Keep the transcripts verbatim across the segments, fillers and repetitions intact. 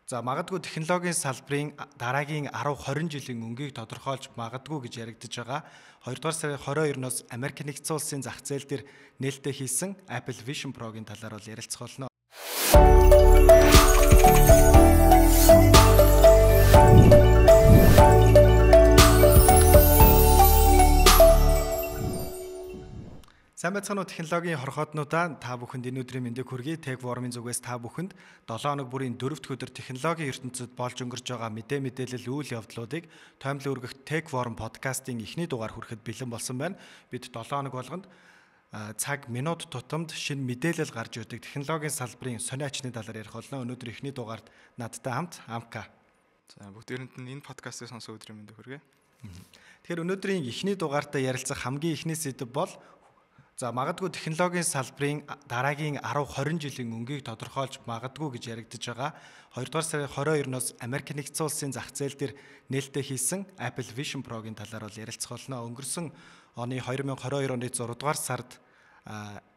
За магадгүй технологийн салбарын дараагийн арав хорин жилийн өнгийг тодорхойлж магадгүй гэж яригдж байгаа. хоёрдугаар сарын хорин хоёроноос Америк нэгдсэн улсын зах зээл дээр нээлттэй хийсэн Apple Vision Pro-гийн талаар бол ярилцах болно. Сайн байцгаана уу технологийн хорхооднуудаа та бүхэнд энэ өдрийн мэндийг хүргэе. Tech Forum-ын зүгээс та бүхэнд долоо хоног бүрийн дөрөвт өдөр технологийн ертөнцид болж өнгөрч байгаа мэдээ мэдээлэл үйл явдлуудыг тоомлон өргөх Tech Forum подкастын эхний дугаар хүрэхэд бэлэн болсон байна. Бид долоо хоног болгонд цаг минут тутамд шинэ мэдээлэл гарч ирдэг технологийн салбарын сони ачны талаар ярих болно. Өнөөдөр эхний дугаард надтай хамт Амка. За бүгдээрэнд нь энэ подкастыг сонсох өдрийн мэндийг хүргэе. Тэгэхээр өнөөдрийн эхний дугаартаа ярилцах хамгийн эхний сэдэв бол за магадгүй технологийн салбарын дараагийн арав хорин жилийн өнгийг тодорхойлж магадгүй гэж яригдж байгаа. хоёрдугаар сарын хорин хоёроноос Америк нэгдсэн улсын зах зээл дээр нээлттэй хийсэн Apple Vision Pro-гийн талаар бол ярилцах болно. Өнгөрсөн оны хоёр мың хорин хоёр оны зургаадугаар сард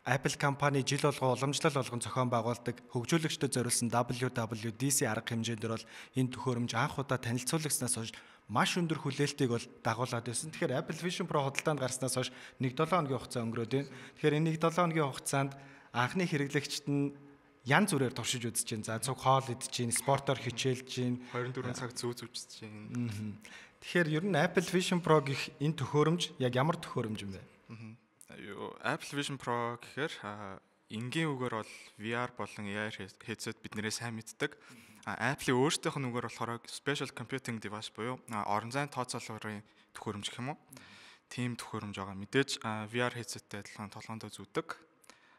Apple компани жил болгон уламжлал болгон зохион байгуулдаг хөгжүүлэгчдэд зориулсан дабл ю дабл ю ди си арга хэмжээндэр бол энэ төхөөрөмж анх удаа танилцуулгаснаас хойш маш өндөр хүлээлтийг бол дагуулад байсан. Тэгэхээр Apple Vision Pro худалдаанд гарснаас хойш нэг долоо хоногийн хугацаа өнгөрөөд байна. Тэгэхээр энэ нэг долоо хоногийн хугацаанд анхны хэрэглэгчд нь янз бүрээр туршиж үзэж байна. За цуг хоол идэж байна, спортоор хичээлж байна, хоёр дөрвөн цаг зүүж үзэж байна. Тэгэхээр ер нь Apple Vision Pro гэх энэ төхөөрөмж яг ямар төхөөрөмж юм бэ? Apple Vision Pro гэхээр энгийн үгээр бол ви ар болон эй ар headset биднэрээ сайн мэддэг. Apple-ийн өөрсдийнх нь үгээр болохоор Special Computing Device буюу орон зайн тооцоолгын төхөөрөмж гэх юм уу? Тим төхөөрөмж байгаа. Мэдээж ви ар headset-тэй адилхан толгоондоо зүүдэг.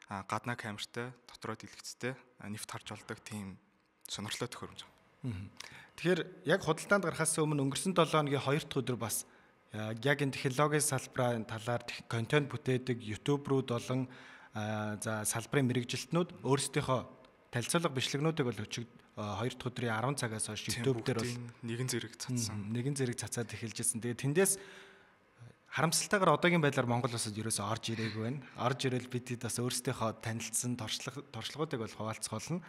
Гаднаа камертай, дотроо дэлгэцтэй, нэвт харж болдог тийм сонирхолтой төхөөрөмж байгаа. Тэгэхээр яг худалдаанд гарахаас өмнө өнгөрсөн долоо хоногийн хоёр дахь өдөр бас яг энэ технологийн салбарын талаар контент бүтээдэг YouTube-рууд болон за салбарын мэрэгжилтнүүд өөрсдийнхөө танилцуулга бичлэгнүүдийг бол өчиг хоёр дахь өдрийн арван цагаас хойш YouTube дээр бол нэгэн зэрэг цацсан. Нэгэн зэрэг цацаад эхэлж ирсэн. Тэгээ тэндээс харамсалтайгаар одоогийн байдлаар Монгол улсад ерөөсөө орж ирээгүй байна. Орж ирэл бид бас өөрсдийнхөө танилцсан туршлагуудыг бол хуваалцах болно.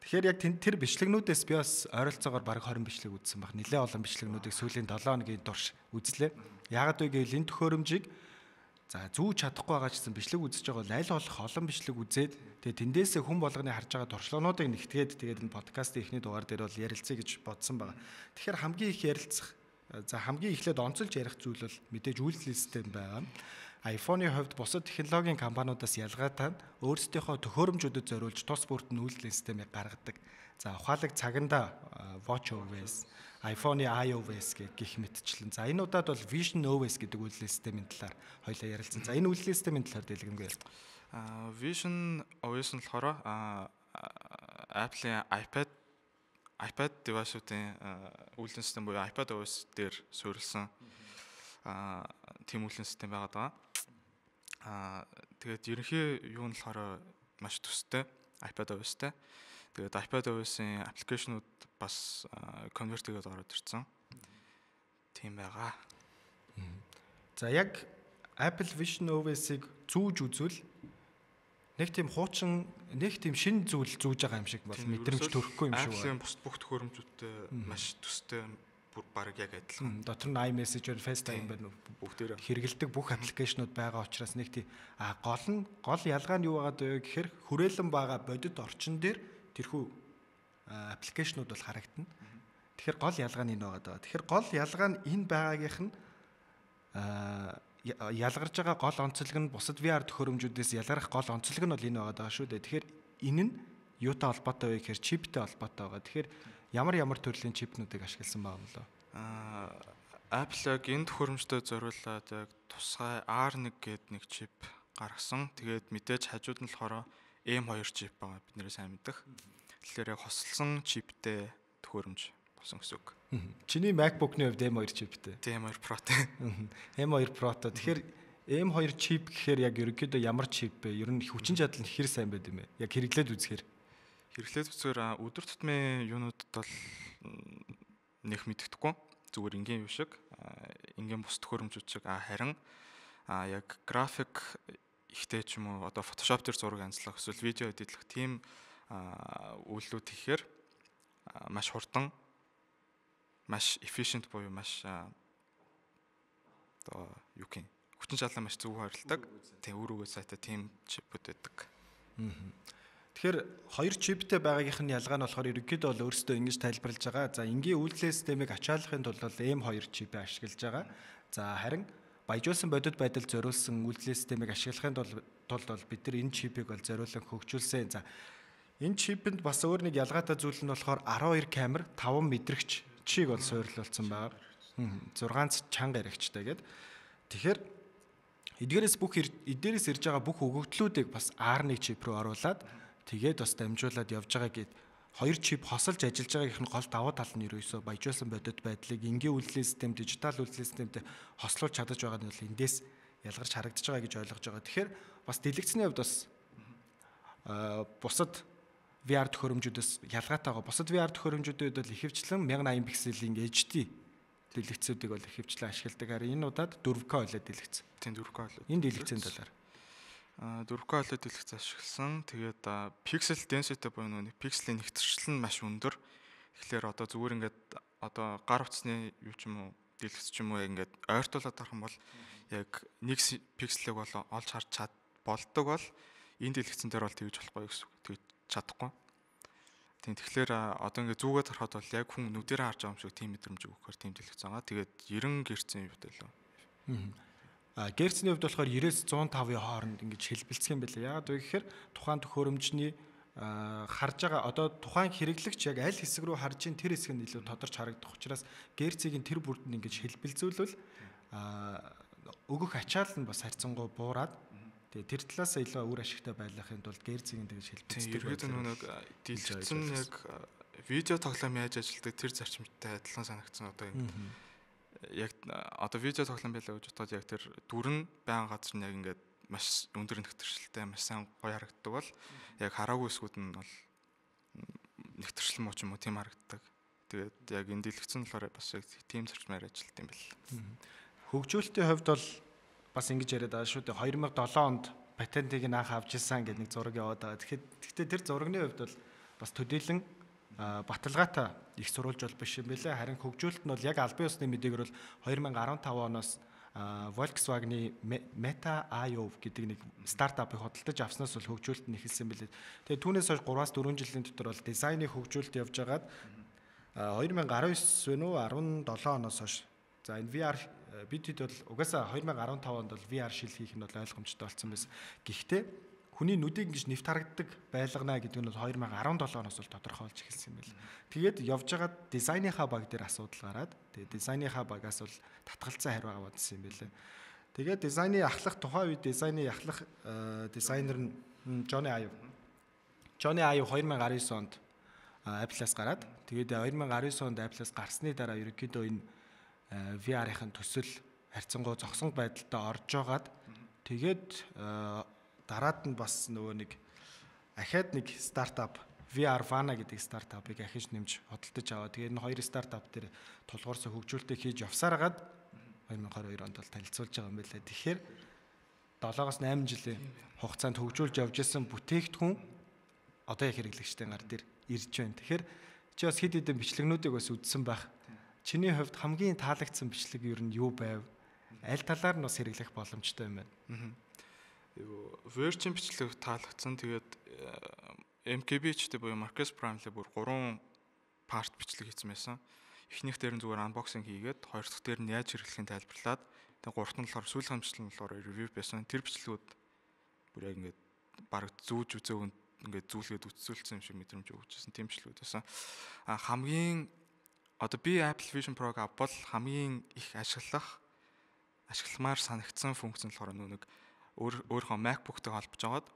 Тэгэхээр яг тэр бичлэгнүүдээс би бас ойролцоогоор бараг хорин бичлэг үзсэн баг. Нилээ олон бичлэгнүүдийг сүүлийн долоо хоногийн турш үзлээ. Яагаад вэ гэвэл энэ төхөөрөмжийг за зүүж чадахгүй байгаа ч гэсэн бичлэг үзэж байгаа бол аль болох олон бичлэг үзээд тэгээ тэндээсээ хүн болгоны харж байгаа туршлагуудыг нэгтгээд тэгээд энэ подкастын эхний дугаар дээр бол ярилцъя гэж бодсон байгаа. Тэгэхээр хамгийн их ярилцах за хамгийн эхлээд онцолж ярих зүйл бол мэдээж үйлдэл систем байгаа. iPhone-ийн хувьд бусад технологийн компаниудаас ялгаатай өөрсдийнхөө төхөөрөмжүүдэд зориулж тус бүрт нь үйлдэл системийг гаргадаг. За ухаалаг цаганда WatchOS, iPhone-ийн iOS гэх мэтчлэн. За энэ удаад бол Vision о эс гэдэг үйлдэл системийн талаар хоёлаа ярилцсан. За энэ үйлдэл системийн талаар дэлгэнгүй. А Vision о эс нь болохоор Apple-ийн iPad iPad device-уудын үйлдэл систем буюу iPad о эс дээр суурилсан а тийм үйлдэл систем байгаад байгаа. Аа тэгээд ерөнхий юу нь болохоор маш төстэй iPad о эс-тэй. Тэгээд iPad о эс-ийн аппликейшнууд бас конверт хийгээд ороод ирсэн. Тийм байгаа. За яг Apple Vision о эс-ийг зүүж үзвэл нэг тийм хуучин нэг тийм шинэ зүйл зүүж байгаа юм шиг бол мэдрэмж төрөхгүй юм шиг байна. Apple-ийн бус бүх төхөөрөмжүүдтэй маш төстэй бүр баг яг адилхан. Дотор нь iMessage, FaceTime байна уу? Бүгдээр хэрэгэлдэг бүх аппликейшнууд байгаа учраас нэг тийм а гол нь гол ялгаа нь юу байгаад вэ гэхээр хүрээлэн байгаа бодит орчин дээр тэрхүү аппликейшнууд бол харагдана. Тэгэхээр гол ялгаа нь энэ байгаад байгаа. Тэгэхээр гол ялгаа нь энэ байгаагийнх нь а ялгарч байгаа гол онцлог нь бусад ви ар төхөөрөмжүүдээс ялгарх гол онцлог нь бол энэ байгаад байгаа шүү дээ. Тэгэхээр энэ нь юутай холбоотой вэ гэхээр чиптэй холбоотой байгаа. Тэгэхээр ямар ямар төрлийн чипнүүдийг ашигласан байгаа юм лөө? Аа Apple яг энэ төхөөрөмжтэй зориулаад яг тусгай ар нэг гэдэг нэг чип гаргасан. Тэгээд мэдээж хажууд нь болохоор эм хоёр чип байгаа. Бид нэрээ сайн мэддэг. Тэгэхээр яг хослсон чиптэй төхөөрөмж болсон гэсэн үг. Чиний MacBook-ны хувьд эм хоёр чиптэй. эм хоёр Pro-тэй. эм хоёр Pro-той. Тэгэхээр эм хоёр чип гэхээр яг ерөнхийдөө ямар чип бэ? Ер нь хүчин чадал нь хэр сайн байд юм бэ? Яг хэрэглээд үзэхээр Хэрэглээд үзэхээр өдөр тутмын юунуудад бол нэх мэддэхгүй. Зүгээр энгийн юм шиг, энгийн бус төхөөрөмжүүд шиг харин яг график ихтэй ч юм уу одоо Photoshop дээр зураг анзлах эсвэл видео эдитлэх тийм үйлдэлүүд хийхээр маш хурдан, маш efficient буюу маш одоо юу гэх юм хүчин чадлаа маш зөв харилдаг. Тийм үр өгөө сайтай тийм чипүүд байдаг. Тэгэхээр хоёр чиптэй байгаагийнх нь ялгаа нь болохоор ерөнхийдөө бол өөрсдөө ингэж тайлбарлаж байгаа. За энгийн үйлдэл системийг ачааллахын тулд бол эм хоёр чипээ ашиглаж байгаа. За харин баяжуулсан бодит байдал зориулсан үйлдэл системийг ашиглахын тулд бол бид нар энэ чипийг бол зориулан хөгжүүлсэн. За энэ чипэнд бас өөр нэг ялгаатай зүйл нь болохоор арван хоёр камер, таван мэдрэгч чиг бол суйрлуулсан байгаа. зургаанц чанга яригчтай гэдэг. Тэгэхээр эдгээрээс бүх эдгээрээс ирж байгаа бүх өгөгдлүүдийг бас ар один чип рүү оруулаад тэгээд бас дамжуулаад явж байгаа гэд хоёр чип хосолж ажиллаж байгаагийнх нь гол давуу тал нь ерөөсөө баяжуулсан бодит байдлыг энгийн үйлдлийн систем, дижитал үйлдлийн системтэй хослуулж чадаж байгаа нь бол эндээс ялгарч харагдаж байгаа гэж ойлгож байгаа. Тэгэхээр бас дэлгэцний хувьд бас бусад ви ар төхөөрөмжүүдээс ялгаатай байгаа. Бусад ви ар төхөөрөмжүүдэд бол ихэвчлэн мянга eighty пикселийн эйч ди дэлгэцүүдийг бол ихэвчлэн ашигладаг. Харин энэ удаад four K OLED дэлгэц. Тийм four K OLED. Энэ дэлгэцийн талаар. А four K OLED дэлгэц ашигласан. Тэгээд pixel density буюу нэг пикселийн нэгтрэл нь маш өндөр. Тэгэхээр одоо зүгээр ингээд одоо гар утасны юу ч юм уу дэлгэц ч юм уу ингээд ойртуулаад авах юм бол яг нэг пикселийг бол олж харж чад болдог бол энэ дэлгэцэн дээр бол тэгж болохгүй гэсэн үг. Тэгж чадахгүй. Тийм тэгэхээр одоо ингээд зүгээд харахад бол яг хүн нүдэрээ харж байгаа юм шиг тийм мэдрэмж өгөхөөр тийм дэлгэц байгаа. Тэгээд ninety герцийн юу байлаа. Аа герцний хувьд болохоор ninety-с one oh five-ийн хооронд ингэж хэлбэлцэх юм байлаа. Яагаад вэ гэхээр тухайн төхөөрөмжний харж байгаа одоо тухайн хэрэглэгч яг аль хэсэг рүү харж ийн тэр хэсэг нь илүү тодорч харагдах учраас герцийн тэр бүрд нь ингэж хэлбэлзүүлвэл өгөх ачаал нь бас харьцангуй буураад тэгээ тэр талаас илүү үр ашигтай байлгахын тулд герцийн тэгж хэлбэлцдэг. Ерөөд нэг дэлгэцэн яг видео тоглоом яаж ажилладаг тэр зарчимтай адилхан санагдсан одоо яг одоо видео тоглоом байлаа гэж бодоод яг тэр дүр нь баян газар нь яг ингээд маш өндөр нэгтрэлтэй маш сайн гоё харагддаг бол яг хараагүй хэсгүүд нь бол нэгтрэл муу ч юм уу тийм харагддаг. Тэгээд яг энэ дэлгэцэн болохоор бас яг тийм зарчмаар ажилладаг юм байна. Хөгжүүлэлтийн хувьд бол бас ингэж яриад байгаа шүү дээ. two thousand seven онд патентыг нь анх авч ирсэн гэдэг нэг зураг яваад байгаа. Тэгэхээр гэхдээ тэр зурагны хувьд бол бас төдийлөн баталгаатай их сурвалж бол биш юм байлээ. Харин хөгжүүлэлт нь бол яг албан ёсны мэдээгээр бол two thousand fifteen оноос Volkswagen-ы Meta ай о гэдэг нэг стартапыг хөдөлж авснаас бол хөгжүүлэлт нь эхэлсэн байлээ. Тэгээ түүнээс хойш three-аас four жилийн дотор бол дизайны хөгжүүлэлт явж байгаад two thousand nineteen ten оноос хойш за энэ ви ар бид хэд бол угаасаа two thousand fifteen онд бол ви ар шил хийх нь бол ойлгомжтой болсон байсан. Гэхдээ хүний нүдийг ингэж нэвт харагддаг байлгана гэдэг нь бол two thousand seventeen оноос бол тодорхойлж эхэлсэн юм байна. Тэгээд явж байгаа дизайныхаа баг дээр асуудал гараад тэгээд дизайныхаа багаас бол татгалцсан хариу аваадсан юм байлээ. Тэгээд дизайны ахлах тухайн үед дизайны ахлах дизайнер нь Johnny Ive. Johnny Ive two thousand nineteen онд Apple-аас гараад тэгээд two thousand nineteen онд Apple-аас гарсны дараа ерөнхийдөө энэ ви ар-ын төсөл харьцангуй зогсон байдалтай орж байгаад тэгээд дараад нь бас нөгөө нэг ахаад нэг стартап ви ар Vana гэдэг стартапыг ахиж нэмж хөдөлтөж аваа. Тэгээд энэ хоёр стартап дээр тулгуурсан хөгжүүлэлтийг хийж явсараад twenty twenty-two онд бол танилцуулж байгаа юм байлаа. Тэгэхээр seven-аас eight жилийн хугацаанд хөгжүүлж явж исэн бүтээгдэхүүн одоо яг хэрэглэгчтэй гар дээр ирж байна. Тэгэхээр чи бас хэд хэдэн бичлэгнүүдийг бас үзсэн байх. Чиний хувьд хамгийн таалагдсан бичлэг ер нь юу байв? Аль талаар нь бас хэрэглэх боломжтой юм байна? Virgin бичлэг таалагдсан. Тэгээд эм кей би-чтэй буюу Marcus Prime-тэй бүр three part бичлэг хийсэн байсан. Эхнийх дээр нь зүгээр unboxing хийгээд, хоёр дахь дээр нь яаж хэрэглэхийг тайлбарлаад, тэгээд гуравт нь болохоор сүүл хамжлал нь болохоор review байсан. Тэр бичлэгүүд бүр яг ингээд баг зүүж үзээг ингээд зүүлгээд үтсүүлсэн юм шиг мэдрэмж өгчээсэн тийм бичлэгүүд байсан. А хамгийн одоо би Apple Vision Pro-г авбал хамгийн их ашиглах ашигламаар санагдсан функц нь болохоор нэг өөр өөрийнхөө MacBook-тэй холбож аваад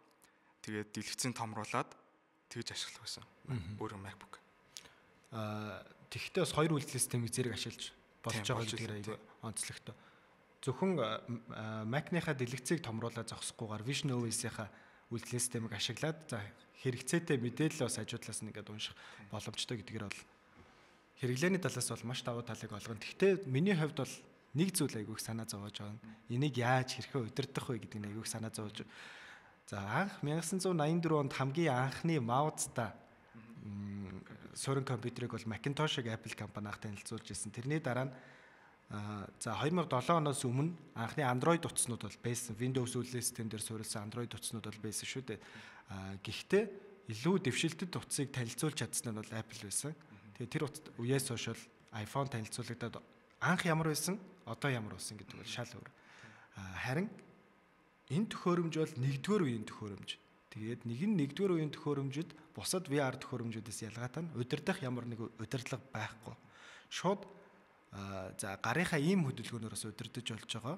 тэгээд дэлгэцийн томруулаад тэгж ашиглах байсан. Өөрөө MacBook. Аа тэгвэл бас хоёр үйлдэл системийг зэрэг ашиглаж болж байгаа гэдгээр аяга онцлогтой. Зөвхөн Mac-ныхаа дэлгэцийг томруулаад зогсохгүйгээр Vision о эс-ийнхаа үйлдэл системийг ашиглаад за хэрэгцээтэй мэдээлэл бас хажуудлаас нь ингээд унших боломжтой гэдгээр бол хэрэглээний талаас бол маш давуу талыг олгоно. Гэхдээ миний хувьд бол нэг зүйл айгүйх санаа зовоож байгаа. Энийг яаж хэрхэн удирдах вэ гэдэг нь айгүйх санаа зовоож. За анх nineteen ninety-four онд хамгийн анхны маузтай суурин компьютерыг бол Macintosh-ыг Apple компани анх танилцуулж ирсэн. Тэрний дараа нь за two thousand seven оноос өмнө анхны Android утаснууд бол байсан. Windows үйлдвэрлэлийн систем дээр суурилсан Android утаснууд бол байсан шүү дээ. Гэхдээ илүү дэвшилтэд утсыг танилцуулж чадсан нь бол Apple байсан. Тэгээ тэр үеэс хойш бол iPhone танилцуулагдаад анх ямар байсан, одоо ямар болсон гэдэг бол шал өөр. Харин энэ төхөөрөмж бол нэгдүгээр үеийн төхөөрөмж. Тэгээд нэг нь нэгдүгээр үеийн төхөөрөмжөд бусад ви ар төхөөрөмжүүдээс ялгаатай нь удирдах ямар нэг удирдлага байхгүй. Шууд за гарынхаа ийм хөдөлгөөнөөс удирдах болж байгаа.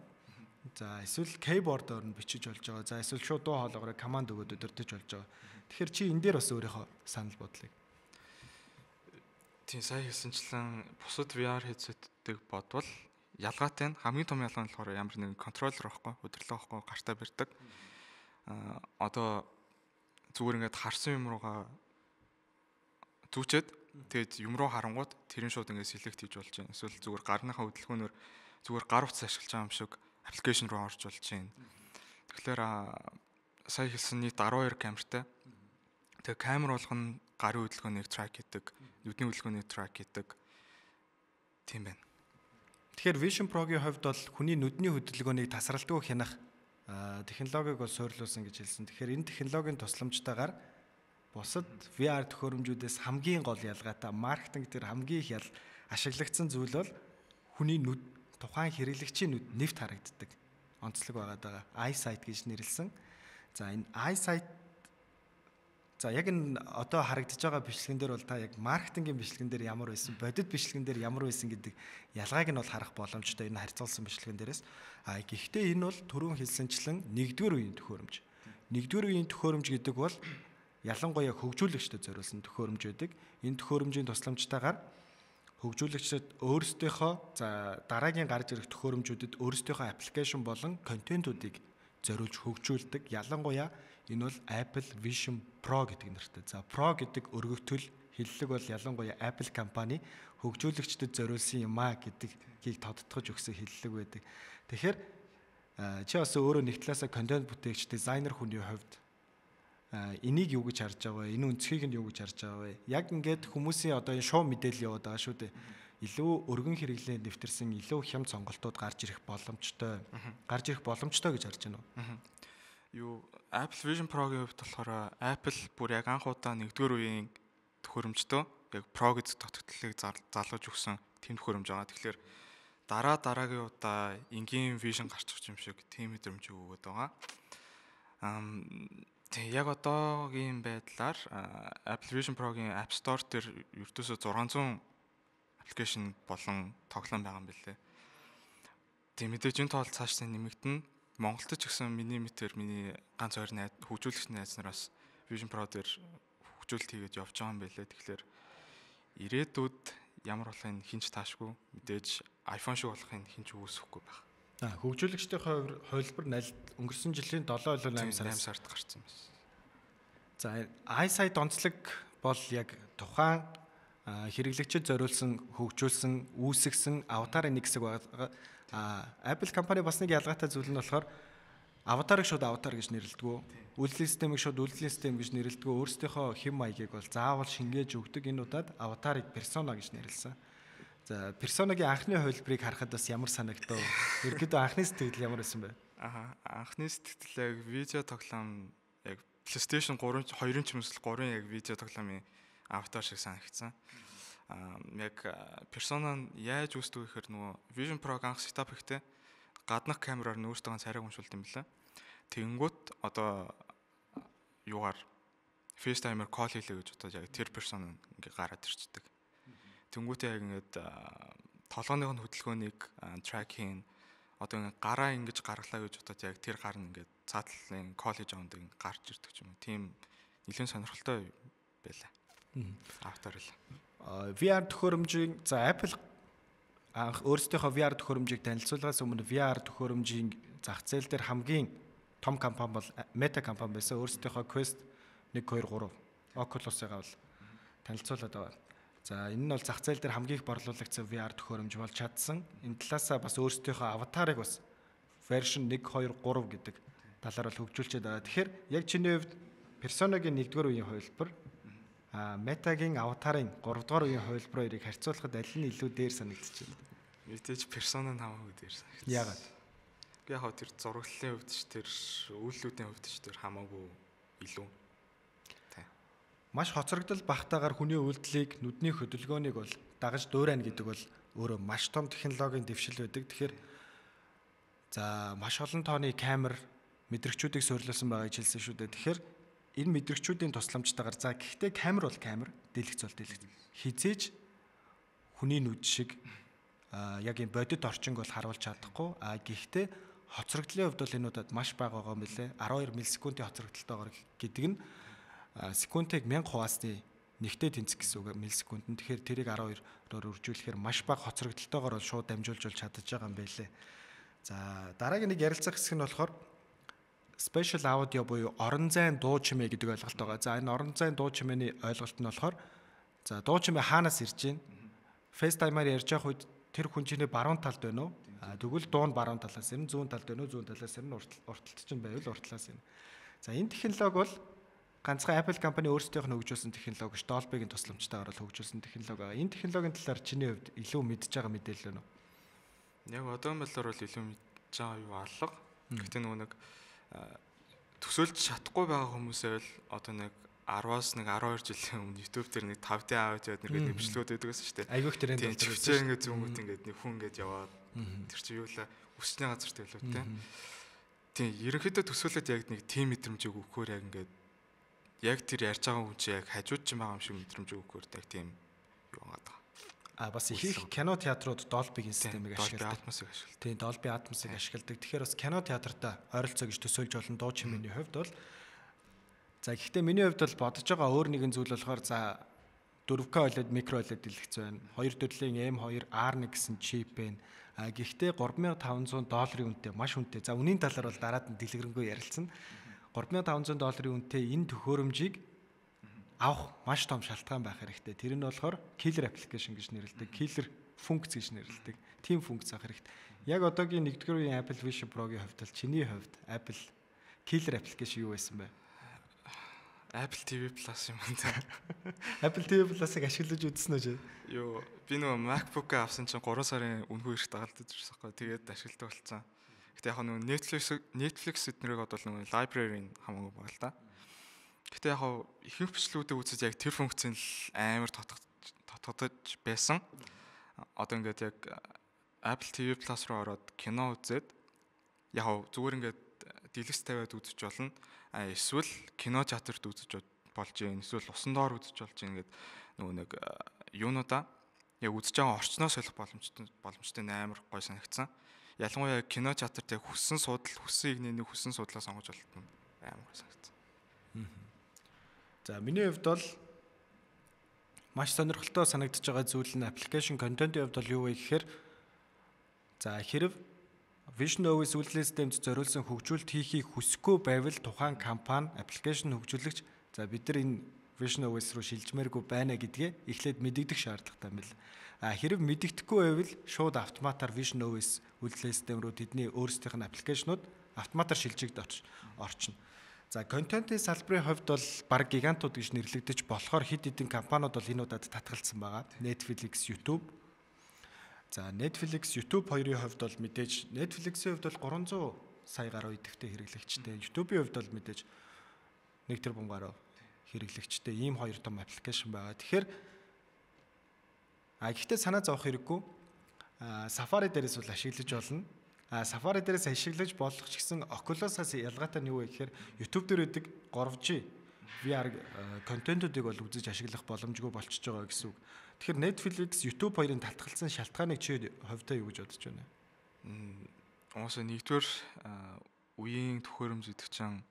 За эсвэл keyboard-оор нь бичиж болж байгаа. За эсвэл шууд дуу хоолойгоор команд өгөөд удирдах болж байгаа. Тэгэхээр чи энэ дээр бас өөрийнхөө санал бодлыг. Тийм сая хэлсэнчлэн бусад ви ар headset-ийг бодвол ялгаатай нь хамгийн том ялгаа нь болохоор ямар нэгэн контроллер байхгүй, удирдлага байхгүй, гартаа барьдаг. А одоо зүгээр ингээд харсан юм руугаа зүучээд тэгээд юм руу харангууд тэрэн шууд ингээд селект хийж болж байна. Эсвэл зүгээр гарныхаа хөдөлгөөнөөр зүгээр гар утас ашиглаж байгаа юм шиг аппликейшн руу орж болж байна. Тэгэхээр сая хэлсэн нийт twelve камертай. Тэгээ камер болгоно гарын хөдөлгөөнийг трак хийдэг, нүдний хөдөлгөөнийг трак хийдэг. Тийм байна. Тэгэхээр Vision Pro-гийн хувьд бол хүний нүдний хөдөлгөөнийг тасралтгүй хянах технологиг бол суйрлуулсан гэж хэлсэн. Тэгэхээр энэ технологийн тусламжтайгаар бусад ви ар төхөөрөмжүүдээс хамгийн гол ялгаатай маркетинг дээр хамгийн их ял ашиглагдсан зүйл бол хүний нүд тухайн хэрэглэгчийн нүд нэвт харагддаг онцлог байгаад байгаа. Eyesight гэж нэрлсэн. За энэ eyesight за яг энэ одоо харагдаж байгаа бичлэгэн дээр бол та яг маркетингийн бичлэгэн дээр ямар байсан, бодит бичлэгэн дээр ямар байсан гэдэг ялгааг нь бол харах боломжтой энэ харьцуулсан бичлэгэн дээрээс. А гэхдээ энэ бол түрүүн хэлсэнчлэн нэгдүгээр үеийн төхөөрөмж. Нэгдүгээр үеийн төхөөрөмж гэдэг бол ялангуяа хөгжүүлэгчдэд зориулсан төхөөрөмж байдаг. Энэ төхөөрөмжийн тусламжтайгаар хөгжүүлэгчид өөрсдийнхөө за дараагийн гарч ирэх төхөөрөмжүүдэд өөрсдийнхөө аппликейшн болон контентуудыг зориулж хөгжүүлдэг. Ялангуяа энэ бол Apple Vision Pro гэдэг нэртэй. За Pro гэдэг өргөгдөл хэллэг бол ялангуяа Apple компани хөгжүүлэгчдэд зориулсан юм а гэдгийг тодтогч өгсөн хэллэг байдаг. Тэгэхээр чи бас өөрөө нэг талаасаа контент бүтээгч, дизайнер хүний хувьд энийг юу гэж харж байгаа вэ? Энэ өнцгийг нь юу гэж харж байгаа вэ? Яг ингээд хүмүүсийн одоо энэ шоу мэдээлэл яваад байгаа шүү дээ. Илүү өргөн хэрэглээ нэвтэрсэн илүү хямд сонголтууд гарч ирэх боломжтой. Гарч ирэх боломжтой гэж харж байна уу? Юу Apple Vision Pro-гийн хувьд болохоор Apple бүр яг анх удаа нэгдүгээр үеийн төхөөрөмжтөө яг Pro гэдэг тогтолцоог залгаж өгсөн тэм төхөөрөмж байгаа. Тэгэхээр дараа дараагийн удаа энгийн Vision гарч ирэх юм шиг тийм мэдрэмж өгөөд байгаа. Ам тэг яг одоогийн байдлаар Apple Vision Pro-гийн App Store дээр ердөөсөө six hundred аппликейшн болон тоглоом байгаа юм билээ. Тэг мэдээж энэ тоол цааш нэмэгдэнэ. Монголд ч гэсэн миний мэтэр миний ганц хоёр найз хөгжүүлэгч найз нараас Vision Pro дээр хөгжүүлэлт хийгээд явж байгаа юм билээ. Тэгэхээр ирээдүйд ямар болохын хинч таашгүй мэдээж iPhone шиг болохын хинч үүсэхгүй байна. Аа хөгжүүлэгчдийн хувилбар налд өнгөрсөн жилийн seven сард гарсан байсан. За eyesight онцлог бол яг тухайн хэрэглэгчид зориулсан хөгжүүлсэн үүсгэсэн аватарын нэг хэсэг байгаа. Apple компани бас нэг ялгаатай зүйл нь болохоор аватарыг шууд аватар гэж нэрлэдэг. Үйлдвэрлэлийн системийг шууд үйлдвэрлэлийн систем гэж нэрлэдэг. Өөрсдийнхөө хэм маягийг бол заавал шингээж өгдөг. Энэ удаад аватарыг persona гэж нэрлэсэн. За персонагийн анхны хувилбарыг харахад бас ямар санагдав? Ерөнхийдөө анхны сэтгэл ямар байсан бэ? Аа анхны сэтгэл яг видео тоглоом яг PlayStation three two-ын ч юмсэл three яг видео тоглоомын аватар шиг санагдсан. Аа яг персона нь яаж үүсдэг гэхээр нөгөө Vision Pro анх сетап хийхдээ гаднах камераар нөөцтэйгэн царайг уншуулд юм байна. Тэнгүүт одоо юугаар FaceTime-аар call хийлээ гэж бодоод яг тэр персона ингээ гараад ирчдэг. Тэнгүүтээ яг ингээд толгойн хөдөлгөөнийг track хийн одоо ингээд гараа ингэж гаргалаа гэж бодоод яг тэр гар нь ингээд цаатлалын коллеж аванд ингээд гарч ирдэг юм. Тийм нэлээд сонирхолтой байлаа. Автор л. ви ар төхөөрөмжийн за Apple анх өөрсдийнхөө ви ар төхөөрөмжийг танилцуулгаас өмнө ви ар төхөөрөмжийн зах зээл дээр хамгийн том компани бол Meta компани байсан. Өөрсдийнхөө Quest one two three Oculus-ыг бол танилцуулаад байгаа. За энэ нь бол зах зээл дээр хамгийн их борлуулагдсан ви ар төхөөрөмж болж чадсан. Энэ талаасаа бас өөрсдийнхөө аватарыг бас version one two three гэдэг талаар бол хөгжүүлчихэд байгаа. Тэгэхээр яг чиний хувьд персонагийн нэгдүгээр үеийн хувилбар Meta-гийн аватарын гурав дахь үеийн хувилбар хоёрыг харьцуулахад аль нь илүү дээр санагдчих вэ? Мэдээж персона нь хамаагүй дээр санагдсан. Яагаад? Яг хаа тэр зураглалын хувьд ч тэр үйлдэлүүдийн хувьд ч тэр хамаагүй илүү. Маш хоцрогдол багтаагаар хүний үйлдэлийг нүдний хөдөлгөөнийг бол дагаж дуурайна гэдэг бол өөрөө маш том технологийн дэвшил байдаг. Тэгэхээр за маш олон тооны камер мэдрэгчүүдийг суурилсан байгааг хэлсэн шүү дээ. Тэгэхээр энэ мэдрэгчүүдийн тусламжтайгаар за гэхдээ камер бол камер, дэлгэц бол дэлгэц. Хизээж хүний нүд шиг яг энэ бодит орчинг бол харуулж чадахгүй. А гэхдээ хоцрогдлын хувьд бол энэ удаад маш бага байгаа юм билэ. арван хоёр миллисекундын хоцрогдолтойгоор гэдэг нь секундыг мянга хуваасны нэгтэй тэнцэх гэсэн үг миллисекунд. Тэгэхээр тэрийг арван хоёроор үржүүлэхээр маш бага хоцрогдолтойгоор бол шууд дамжуулж бол чадаж байгаа юм байлээ. За дараагийн нэг ярилцах хэсэг нь болохоор special audio буюу орон зайн дуу чимээ гэдэг ойлголт байгаа. За энэ орон зайн дуу чимээний ойлголт нь болохоор за дуу чимээ хаанаас ирж байна? FaceTime-аар ярьж явах үед тэр хүн чиний баруун талд байна уу? Тэгвэл дуу нь баруун талаас ирнэ, зүүн талд байна уу? Зүүн талаас ирнэ, урталт чинь байвал уртлаас ирнэ. За энэ технологи бол ганцхан Apple компани өөрсдийнх нь хөгжүүлсэн технологи ш Dolby-гийн тусламжтайгаар бол хөгжүүлсэн технологи байгаа. Энэ технологийн талаар чиний хувьд илүү мэдж байгаа мэдээлэл байна уу? Яг одоогийн байдлаар бол илүү мэдж байгаа юу алга. Гэхдээ нөгөө нэг төсөөлж чадахгүй байгаа хүмүүсээ л одоо нэг араас нэг арван хоёр жилийн өмнө YouTube дээр нэг five D аудиод нэг нэвшлүүд байдаг гэсэн шүү дээ. Айгүйх тэрэнд бол төвчээ ингээд зүүнгүүд ингээд нэг хүн ингээд яваад тэр чи юу л өсчний газар төлөв тэ. Тийм ерөнхийдөө төсөөлөд яг нэг тим мэдрэмжийг өгөхөөр яг ингээд яг тэр ярьж байгаа хүн чи яг хажууд ч байгаа юм шиг мэдрэмж өгөхөөр яг тийм юу байгаа. А бас их кино театрууд Dolby-гийн системийг ашигладаг. ашигладаг. Тийм Dolby Atmos-ыг ашигладаг. Тэгэхээр бас кино театртаа ойролцоо гэж төсөөлж олон дуу чимээний хувьд бол за гэхдээ миний хувьд бол бодож байгаа өөр нэгэн зүйл болохоор за four K OLED, micro OLED дэлгэц байна. Хоёр төрлийн M two R one гэсэн чип байна. А гэхдээ three thousand five hundred долларын үнэтэй маш үнэтэй. За үнийн талаар бол дараад нь дэлгэрэнгүй ярилцсан. three thousand five hundred долларын үнэтэй энэ төхөөрөмжийг авах маш том шалтгаан байх хэрэгтэй. Тэр нь болохоор killer application гэж нэрлэдэг, killer функц гэж нэрлэдэг. Тим функц авах хэрэгтэй. Яг одоогийн нэгдүгээр үеийн Apple Vision Pro-гийн хувьд бол чиний хувьд Apple killer application юу байсан бэ? Apple ти ви Plus юм байна. Apple ти ви Plus-ыг ашиглаж үзсэн үү? Юу, би нөгөө MacBook авсан чинь three сарын үнэгүй их дагалдаж ирсэн байхгүй. Тэгээд ашигладаг болсон. Гэтэ яг нөгөө Netflix Netflix эднэрийг одоо нөгөө library-ийн хамаагүй байгаа л да. Гэтэ яг ихэнх бичлэгүүдийг үзэж яг тэр функцийн л амар татгадаж байсан. Одоо ингээд яг Apple ти ви Plus руу ороод кино үзээд яг зүгээр ингээд дэлгэц тавиад үзэж болно. А эсвэл кино театрт үзэж болж юм. Эсвэл усан доор үзэж болж юм ингээд нөгөө нэг юунуудаа яг үзэж байгаа орчноос солих боломжтой боломжтой амар гой санагдсан. Ялангуяа кино театрт яг хүссэн судал, хүссэн игний нэг хүссэн судлаа сонгож болтон амар гой санагдсан. За миний хувьд бол маш сонирхолтой санагдаж байгаа зүйл нь application content-ийн хувьд бол юу вэ гэхээр за хэрв Vision O S үйлдвэрлэлийн системд зориулсан хөгжүүлэлт хийхийг хүсэхгүй байвал тухайн компани аппликейшн хөгжүүлэгч за бид нар энэ Vision O S руу шилжмээргүй байна гэдгээ эхлээд мэдэгдэх шаардлагатай юм бэл. А хэрэг мэдэгдэхгүй байвал шууд автоматар Vision O S үйлдвэрлэлийн систем рүү тэдний өөрсдийнх нь аппликейшнууд автоматар шилжигд орчно. За контентын салбарын хувьд бол баг гигантууд гэж нэрлэгдэж болохоор хэд хэдэн компаниуд бол энэ удаад татгалцсан байгаа. Netflix, YouTube. За Netflix, YouTube хоёрын хувьд бол мэдээж Netflix-ийн хувьд бол three hundred сая гаруй идэвхтэй хэрэглэгчтэй. YouTube-ийн хувьд бол мэдээж one тэрбум гаруй хэрэглэгчтэй ийм хоёр том аппликейшн байгаа. Тэгэхээр а гэхдээ санаа зовох хэрэггүй. Safari дээрээс бол ашиглаж болно. А Safari дээрээс ашиглаж болох ч гэсэн Oculus-аас ялгаатай нь юу вэ гэхээр YouTube дээр үүдэг three G V R контентуудыг бол үзэж ашиглах боломжгүй болчихж байгаа гэсэн үг. Тэгэхээр Netflix, YouTube хоёрын татгалцсан шалтгааныг чи хувьдаа юу гэж бодож байна? Уусаа нэгдүгээр үеийн төхөөрөмж гэдэг чинь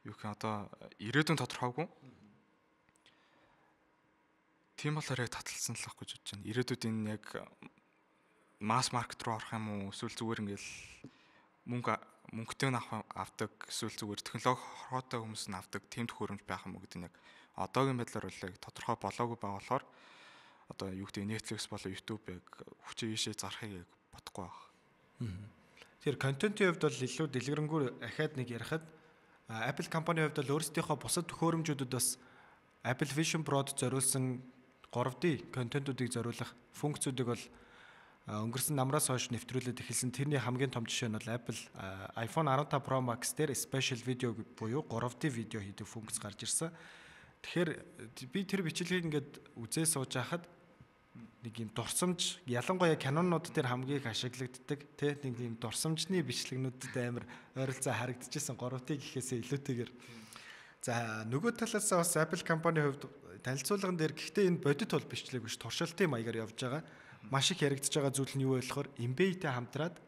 юу гэх одоо ирээдүйн тодорхойгүй. Тийм болохоор яг татгалцсан л ах гэж бодож байна. Ирээдүйд энэ яг масс маркет руу орох юм уу? Эсвэл зүгээр ингээл мөнгө мөнгөтэй нь авдаг, эсвэл зүгээр технологи хорвоотой хүмүүс нь авдаг тийм төхөөрөмж байх юм уу гэдэг нь яг одоогийн байдлаар бол яг тодорхой болоогүй байгаа болохоор одоо юу гэдэг Netflix болоо YouTube яг хүчээ ийшээ зарахыг яг бодохгүй байна. Тэр контентын хувьд бол илүү дэлгэрэнгүй ахаад нэг ярихад Apple компанийн хувьд бол өөрсдийнхөө бусад төхөөрөмжүүдэд бас Apple Vision Pro-д зориулсан three D контентуудыг зориулах функцүүдийг бол өнгөрсөн намраас хойш нэвтрүүлээд эхэлсэн. Тэрний хамгийн том жишээ нь бол Apple iPhone fifteen Pro Max дээр Special Video буюу three D видео хийдэг функц гарч ирсэн. Тэгэхээр би тэр бичлэгийг ингээд үзээ сууж байхад нэг юм дурсамж, ялангуяа Canon-нууд дээр хамгийн их ашиглагддаг тий нэг юм дурсамжны бичлэгнүүдэд амар ойролцоо харагдчихсан three D гэхээсээ илүүтэйгээр. За нөгөө талаас бас Apple компани хувьд танилцуулган дээр гэхдээ энэ бодит бол бичлэг биш, туршилтын маягаар явж байгаа. Маш их яригдж байгаа зүйл нь юу вэ болохоор Embed-тэй хамтраад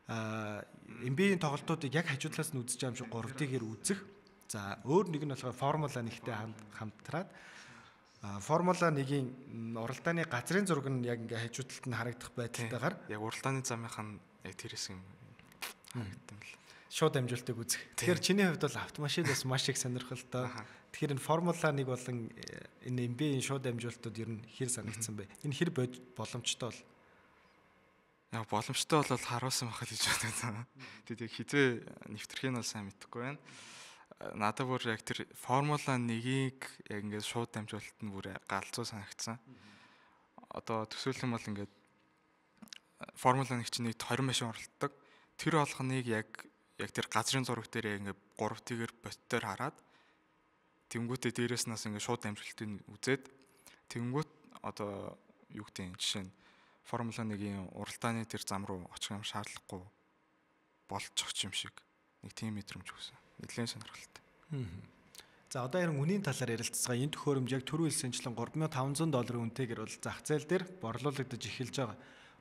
аа Embed-ийн тоглолтуудыг яг хажуудлаас нь үзэж байгаа юм шиг three D-гээр үзэх. За өөр нэг нь болохоор Формула нэгтэй хамтраад Формула one-ийн уралдааны газрын зураг нь яг ингээ хажуудалд нь харагдах байдалтайгаар яг уралдааны замынх нь яг тэр хэсэг юм харагдсан л. Шууд амжилтыг үзэх. Тэгэхээр чиний хувьд бол автомашин бас маш их сонирхолтой. Тэгэхээр энэ Формула one болон энэ Embed-ийн шууд амжилтууд ер нь хэр санагдсан бэ? Энэ хэр боломжтой бол? Яг боломжтой бол харуулсан байх л гэж бодсон. Тэгээд хизээ нэвтрэх нь бол сайн мэдэхгүй байна. Надад бүр яг тэр Формула one-ийг яг ингээд шууд дамжуулалт нь бүр галзуу санагдсан. Одоо төсөөлөх юм бол ингээд Формула one чинь нэг тwenty машин оролцдог. Тэр болгоныг яг яг тэр газрын зураг дээр ингээд three D-гээр боттоор хараад тэнгүүтээ дээрээс нас ингээд шууд дамжуулалтыг үзээд тэнгүүт одоо юу гэдэг юм жишээ нь Формула one-ийн уралдааны тэр зам руу очих юм шаардлагагүй болчих юм шиг нэг тийм мэдрэмж өгсөн. Нэлээд сонирхолтой. За одоо ярин үнийн талаар ярилцгаа. Энэ төхөөрөмж яг түрүү хэлсэнчлэн three thousand five hundred долларын үнэтэйгээр бол зах зээл дээр борлуулагдаж эхэлж байгаа.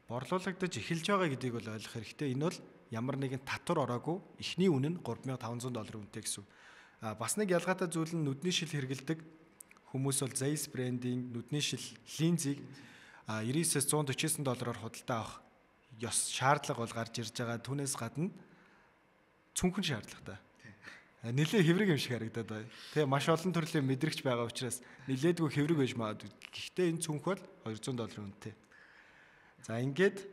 Борлуулагдаж эхэлж байгаа гэдгийг бол ойлгох хэрэгтэй. Энэ бол ямар нэгэн татвар ороогүй эхний үнэ нь three thousand five hundred долларын үнэтэй гэсэн. А бас нэг ялгаатай зүйл нь нүдний шил хэрэгэлдэг хүмүүс бол Zeiss брендийн нүдний шил линзийг ninety-нine-ээс one forty-nine доллараар худалдаа авах ёс шаардлага бол гарч ирж байгаа. Түүнээс гадна цүнхэн шаардлагатай. Нилээ хэврэг юм шиг харагдаад байна. Тэгээ маш олон төрлийн мэдрэгч байгаа учраас нилээдгүй хэврэг байж магадгүй. Гэхдээ энэ цүнх бол two hundred долларын үнэтэй. За ингээд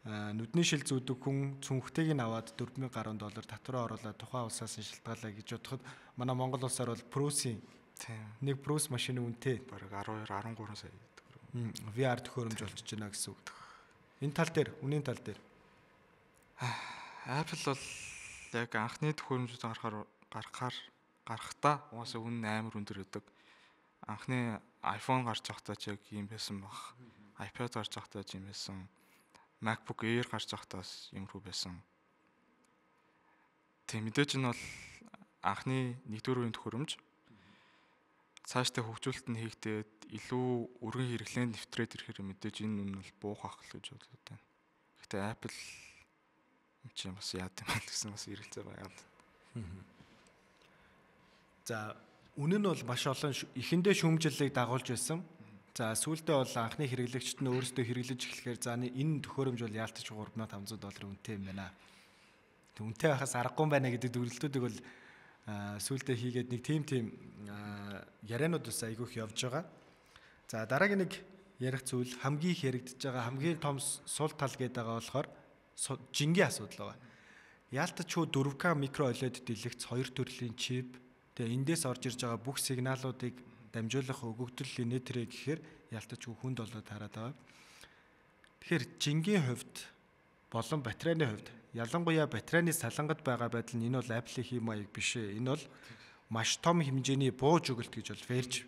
нүдний шил зүүдэг хүн цүнхтэйг нь аваад four thousand гаруй доллар татвараа оруулаад тухайн улсаас нь шилтгаалаа гэж бодоход манай Монгол улсаар бол Prusa-ийн нэг Prusa машины үнэтэй бараг twelve13 сая төгрөг. ви ар төхөөрөмж болчихж байна гэсэн үг. Энэ тал дээр, үнийн тал дээр Apple бол яг анхны төхөөрөмжүүд гарахаар гарахаар гарахтаа угаасаа үн амар өндөр өгдөг. Анхны iPhone гарч байхдаа ч яг юм байсан баг. iPad гарч байхдаа ч юм байсан. MacBook Air гарч байхдаас юм рүү байсан. Тэг мэдээж нь бол анхны нэгдүгээр үеийн төхөөрөмж цаашдаа хөгжүүлэлт нь хийгдээд илүү өргөн хэрэглээнд нэвтрээд ирэхээр мэдээж энэ үн бол буух ах л гэж бодлоо тань. Гэхдээ Apple чи бас яа гэм бэ гэсэн бас ирэлцээ байгаа. За үнэн нь бол маш олон эхэндээ шүүмжлэлийг дагуулж байсан. За сүүлдээ бол анхны хэрэглэгчид нь өөрсдөө хэрэглэж эхлэхээр за энэ төхөөрөмж бол яалтч three thousand five hundred долларын үнэтэй юм байна. Тэг үнэтэй байхаас аргагүй байна гэдэг дүгнэлтүүдийг бол сүүлдээ хийгээд нэг тим тим яриануд ус айгүйх явж байгаа. За дараагийн нэг ярих зүйл хамгийн их яригдж байгаа хамгийн том сул тал гэдэг байгаа болохоор жингийн асуудал байгаа. Яалтч хүү four K микро олед дэлгэц хоёр төрлийн чип тэгээ эндээс орж ирж байгаа бүх сигналуудыг дамжуулах өгөгдөл инээтрээ гэхээр яалтч хүү хүнд болоод хараад байгаа. Тэгэхээр жингийн хувьд болон батарейны хувьд ялангуяа батарейны салангад байгаа байдал нь энэ бол Apple-ийн хэм маяг биш ээ. Энэ бол маш том хэмжээний бууж өгөлт гэж бол Verge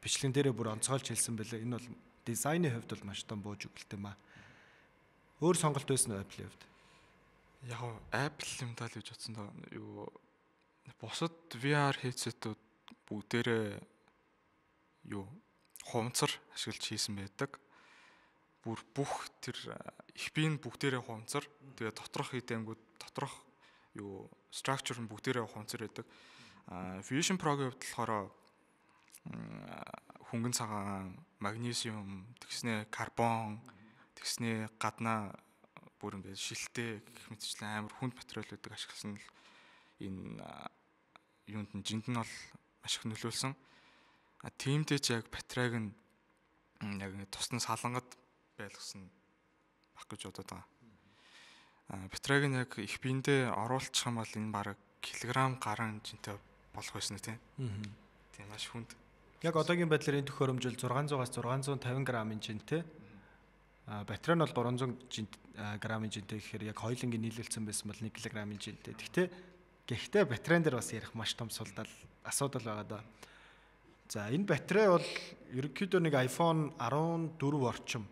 бичлэгэн дээрээ бүр онцгойлж хэлсэн байлаа. Энэ бол дизайны хувьд бол маш том бууж өгөлт юм аа. Өөр сонголт байсан уу Apple-ийн хувьд? Яг Apple юм даа л гэж бодсон доо. Юу бусад ви ар headset-үүд бүгдээрээ юу хувцар ашиглаж хийсэн байдаг. Бүр бүх тэр их биеийн бүгдээрээ хувцар. Тэгээ доторх хийдэнгүүд доторх юу structure нь бүгдээрээ хувцар байдаг. Vision Pro-гийн хувьд болохоор хөнгөн цагаан, магнезиум, тэгснэ карбон, тэгснэ гаднаа бүр ингээд шилтэй гэх мэтчлэн амар хүнд материалуудыг ашигласан л энэ юунд нь жинд нь бол маш их нөлөөлсөн. А тиймдээ ч яг батарейг нь яг ингээд тусна салангад байлгасан баг гэж бодоод байгаа. А батарейг нь яг их биендээ оруулчих юм бол энэ бараг килограмм гаруй жинтэй болох байсан тийм. Тийм маш хүнд. Яг одоогийн байдлаар энэ төхөөрөмжөл зургаан зугаас зургаан зуун тавин грамм жинтэй. А батарей нь бол гурван зуун грамм жинтэй гэхээр яг хоёулангийн нийлүүлсэн байсан бол нэг килограмм жинтэй. Гэхдээ гэхдээ батарейн дээр бас ярих маш том судал асуудал байгаа даа. За энэ батарей бол ерөнхийдөө нэг iPhone дөрвөн орчим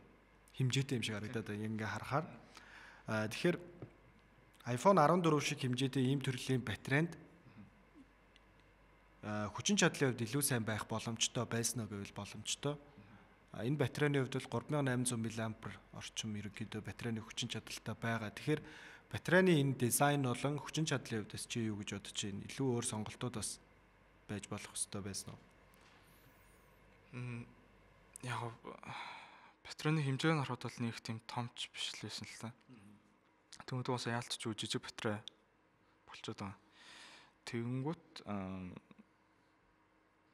хэмжээтэй юм шиг харагдаад байна ингээ харахаар. А тэгэхээр iPhone дөрвөн шиг хэмжээтэй ийм төрлийн батарейнд хүчин чадлын хувьд илүү сайн байх боломжтой байсан уу гэвэл боломжтой. Энэ батарейны хувьд бол три thousand eight hundred миллиампер орчим ерөнхийдөө батарейны хүчин чадалтай байгаа. Тэгэхээр батарейны энэ дизайн болон хүчин чадлын хувьд чи юу гэж бодож байна? Илүү өөр сонголтууд бас байж болох ёстой байсан уу? М яг батарейны хэмжээг нь харахад бол нэг тийм томч биш л байсан л та. Тэгмэд бас яалтч үу жижиг батарей болчиход байгаа. Тэгэнгүүт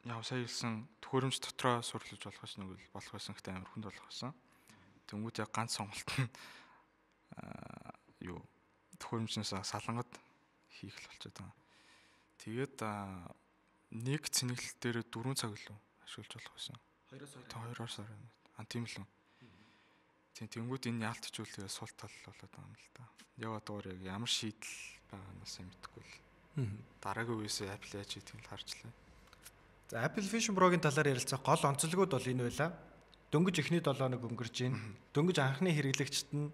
яг сая хэлсэн төхөөрөмж дотроо сурлаж болох гэсэн нэг л болох байсан гэхдээ амар хүнд болох байсан. Тэнгүүд яг ганц сонголт нь юу төхөөрөмжнөөс салангад хийх л болчиход байгаа. Тэгээд нэг цэнэглэл дээр дөрвөн цаг илүү ашиглаж болох байсан. хоёроор сар. А тийм л үү. Тийм тэнгүүд энэ яалтчүүл тэгээ сул тал болоод байгаа юм л та. Яваа дуур яг ямар шийдэл байгаанаас юм мэдэхгүй л. Дараагийн үеэс Apple яаж хийдгийг л харчлаа. За Apple Vision Pro-гийн талаар ярилцах гол онцлогуд бол энэ байла. Дөнгөж эхний долоо хоног өнгөрч байна. Дөнгөж анхны хэрэглэгчид нь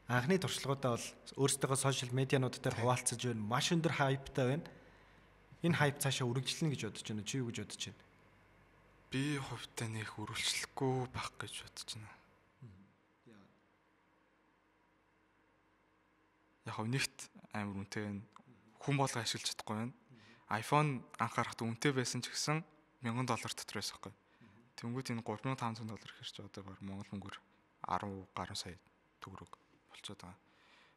анхны туршлагуудаа бол өөрсдөө сошиал медианууд дээр хуваалцаж байна. Маш өндөр хайптай байна. Энэ хайп цаашаа үргэлжлэнэ гэж бодож байна. Чи юу гэж бодож байна? Би хувьдаа нэх үргэлжлэхгүй байх гэж бодож байна. Яг нэгт амар үнэтэй байна. Хүн болго ашиглаж чадахгүй байна. iPhone анхаарахад үнэтэй байсан ч гэсэн мянган доллар дотор байсан байхгүй. Тэнгүүд энэ три thousand five hundred доллар хэрч одоо баг Монгол мөнгөөр ten гаруй сая төгрөг болчиход байгаа.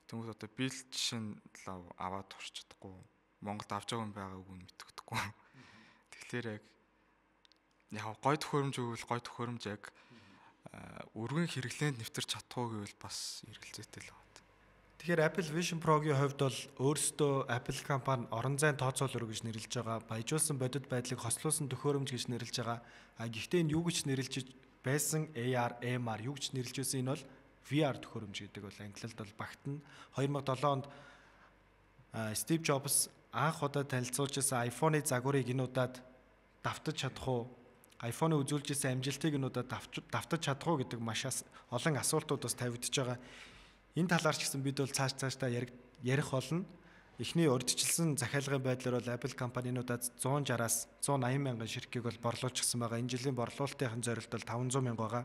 Тэнгүүд одоо би л жишээ нь лав аваад турч чадахгүй. Монголд авч байгаа юм байгааг нь мэддэхгүй. Тэгэхээр яг яг гой төхөөрөмж өгвөл гой төхөөрөмж яг өргөн хэрэглээнд нэвтэрч чадах уу гэвэл бас эргэлзээтэй л байна. Тэгэхээр Apple Vision Pro-гийн хувьд бол өөрсдөө Apple компани орон зайн тооцоолор гэж нэрлэж байгаа, баяжуулсан бодит байдлыг хослуулсан төхөөрөмж гэж нэрлэж байгаа. А гэхдээ энэ юу гэж нэрлэж байсан A R, M R юу гэж нэрлэж байсан энэ бол V R төхөөрөмж гэдэг бол англиад бол багтана. two thousand seven онд Steve Jobs анх удаа танилцуулж байсан iPhone-ы загварыг энэ удаад давтаж чадах уу? iPhone-ы үзүүлж байсан амжилтыг энэ удаад давтаж чадах уу гэдэг маш олон асуултууд бас тавигдж байгаа. Энэ талаар ч гэсэн бид бол цааш цаашдаа ярих болно. Эхний урьдчилсан захиалгын байдлаар бол Apple компаниудад one sixty-аас one eighty мянган ширхгийг бол борлуулчихсан байгаа. Энэ жилийн борлуулалтын зорилт бол five hundred мянга байгаа.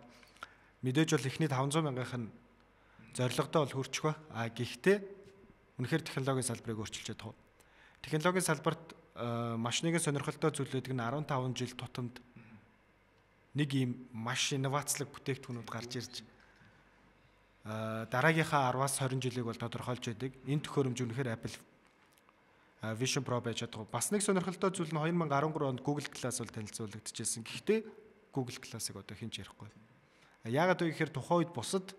Мэдээж бол эхний five hundred мянган зорилгодоо бол хүрчих ба. А гэхдээ үнэхээр технологийн салбарыг өөрчилж чадах уу? Технологийн салбарт маш нэгэн сонирхолтой зүйлүүд нь fifteen жил тутамд нэг ийм маш инновацлог бүтээгдэхүүнүүд гарч ирж дараагийнхаа ten-аас twenty жилиг бол тодорхойлж байдаг. Энэ төхөөрөмж үнэхээр Apple Vision Pro байж чадах. Бас нэг сонирхолтой зүйл нь twenty thirteen онд Google Glass бол танилцуулагдчихсэн. Гэхдээ Google Glass-ыг одоо хэн ч ярихгүй. Яагаад вэ гэхээр тухайн үед бусад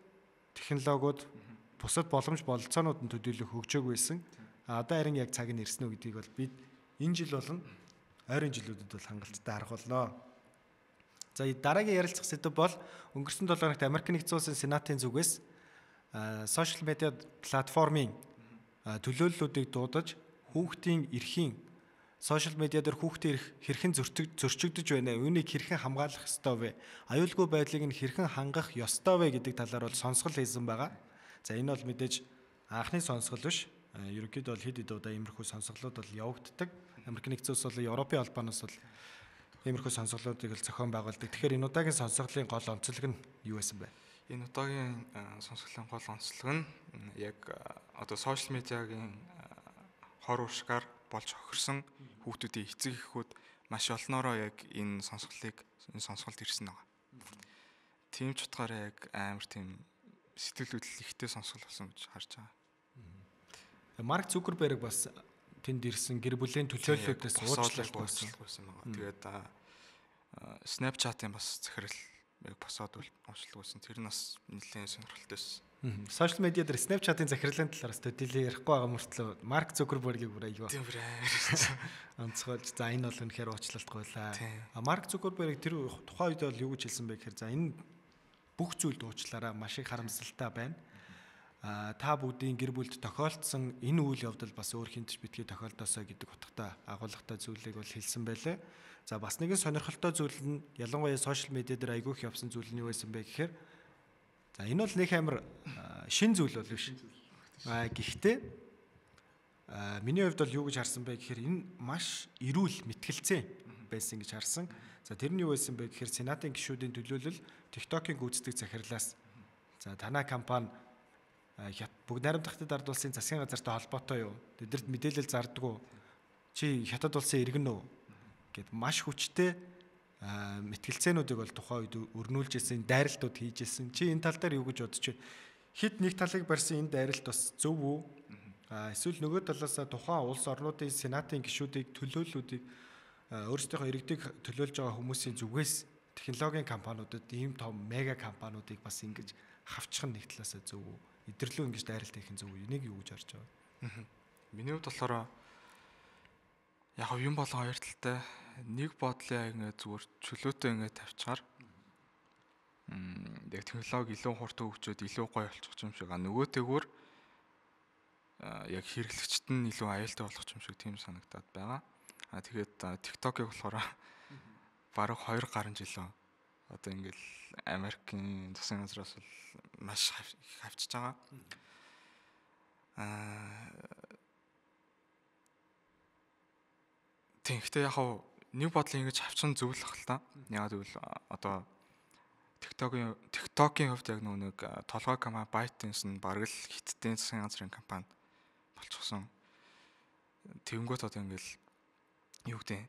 технологиуд, бусад боломж бололцоонууд нь төдийлөх хөгжөөг байсан. А одоо харин яг цаг нь ирсэн үү гэдгийг бол бид энэ жил болон ойрын жилүүдэд бол хангалттай харах болно. За дараагийн ярилцах сэдэв бол өнгөрсөн долоо хоногт Америк нэгдсэн улсын Сенатын зүгээс сошиал медиа платформын төлөөллүүдийг дуудаж хүүхдийн эрхийн сошиал медиа дээр хүүхдийн эрх хэрхэн зөрчигдөж байна вэ? Үүнийг хэрхэн хамгаалах ёстой вэ? Аюулгүй байдлыг нь хэрхэн хангах ёстой вэ гэдэг талаар бол сонсгол хийсэн байгаа. За энэ бол мэдээж анхны сонсгол биш. Ерөнхийдөө бол хэд хэд удаа иймэрхүү сонсголууд бол явагддаг. Америк нэгдсэн улс бол Европын албаноос бол иймэрхүү сонсголуудыг л зохион байгуулдаг. Тэгэхээр энэ удаагийн сонсголын гол онцлог нь юу байсан бэ? Энэ удаагийн сонсголын гол онцлог нь яг одоо сошиал медиагийн хор уршгаар болж хохирсон хүүхдүүдийн эцэг эхүүд маш олноороо яг энэ сонсголыг энэ сонсголд ирсэн байгаа. Тийм ч утгаараа яг амар тийм сэтгэл хөдлөл ихтэй сонсгол болсон гэж харж байгаа. Марк Цукерберг бас тэнд ирсэн гэр бүлийн төлөөллүүдээс уучлалт байсан байгаа. Тэгээд Snapchat-ын бас захирал яг босоод уучлалт байсан. Тэр нь бас нэлээд сонирхолтой байсан. Сошиал медиа дээр Snapchat-ын захирлын талаараас төдийлээ ярихгүй байгаа мөртлөө Марк Зукербергийг бүр аяа. Тийм бүр амар. Онцгойлж за энэ бол үнэхээр уучлалтгүй байлаа. А Марк Зукерберг тэр тухайн үед бол юу гэж хэлсэн бэ гэхээр за энэ бүх зүйлд уучлаарай, маш их харамсалтай байна. А та бүгдийн гэр бүлд тохиолдсон энэ үйл явдал бас өөр хинтж битгий тохиолдосоо гэдэг утгатай агуулгатай зүйлийг бол хэлсэн байлээ. За бас нэгэн сонирхолтой зүйл нь ялангуяа сошиал медиа дээр айгүйх явсан зүйл нь юу байсан бэ гэхээр за энэ бол нэг амар шин зүйл бол биш. А гэхдээ а миний хувьд бол юу гэж харсан бэ гэхээр энэ маш эрүүл мэтгэлцээ байсан гэж харсан. За тэр нь юу байсан бэ гэхээр Сенатын гишүүдийн төлөөлөл TikTok-ийн гүйцэтгэх захирлаас за танай компани бүгд найрамдахтад ард улсын засгийн газартай холбоотой юу? Тэдэрт мэдээлэл зардаг уу? Чи хятад улсын иргэн үү? Гэт маш хүчтэй мэтгэлцээнүүдийг бол тухайн үед өрнүүлж ирсэн, дайралтууд хийж ирсэн. Чи энэ тал дээр юу гэж бодож байна? Хэд нэг талыг барьсан энэ дайралт бас зөв үү? А эсвэл нөгөө талаас тухайн улс орнуудын сенатын гишүүдийг төлөөллүүдийг өөрсдийнхөө иргэдийг төлөөлж байгаа хүмүүсийн зүгээс технологийн компаниудад ийм том мега компаниудыг бас ингэж хавчих нь нэг талаас зөв үү? Идэрлүү ингэж дайралт хийх нь зөв үү? Энийг юу гэж харж байгаа? Миний хувьд болохоор яг юм болон хоёр талтай нэг бодлоо ингэ зүгээр чөлөөтэй ингэ тавьчихаар яг технологи илүү хурдан хөгжөөд илүү гоё болчих юм шиг а нөгөөтэйгүр яг хэрэглэгчд нь илүү аюултай болох юм шиг тийм санагдаад байгаа. А тэгээд TikTok-ыг болохоор бараг хоёр гаруй жил одоо ингээл Америкийн засгийн газраас бол маш хавчиж байгаа. Аа Тэгэхдээ яг хав нэг бодлын ингэж хавчин зөвлөх л та. Яг гэвэл одоо TikTok-ийн TikTok-ийн хувьд яг нэг толгой компани ByteDance нь бараг л хиттийн засгийн газрын компани болчихсон. Тэнгүүт одоо ингээл юу гэдэг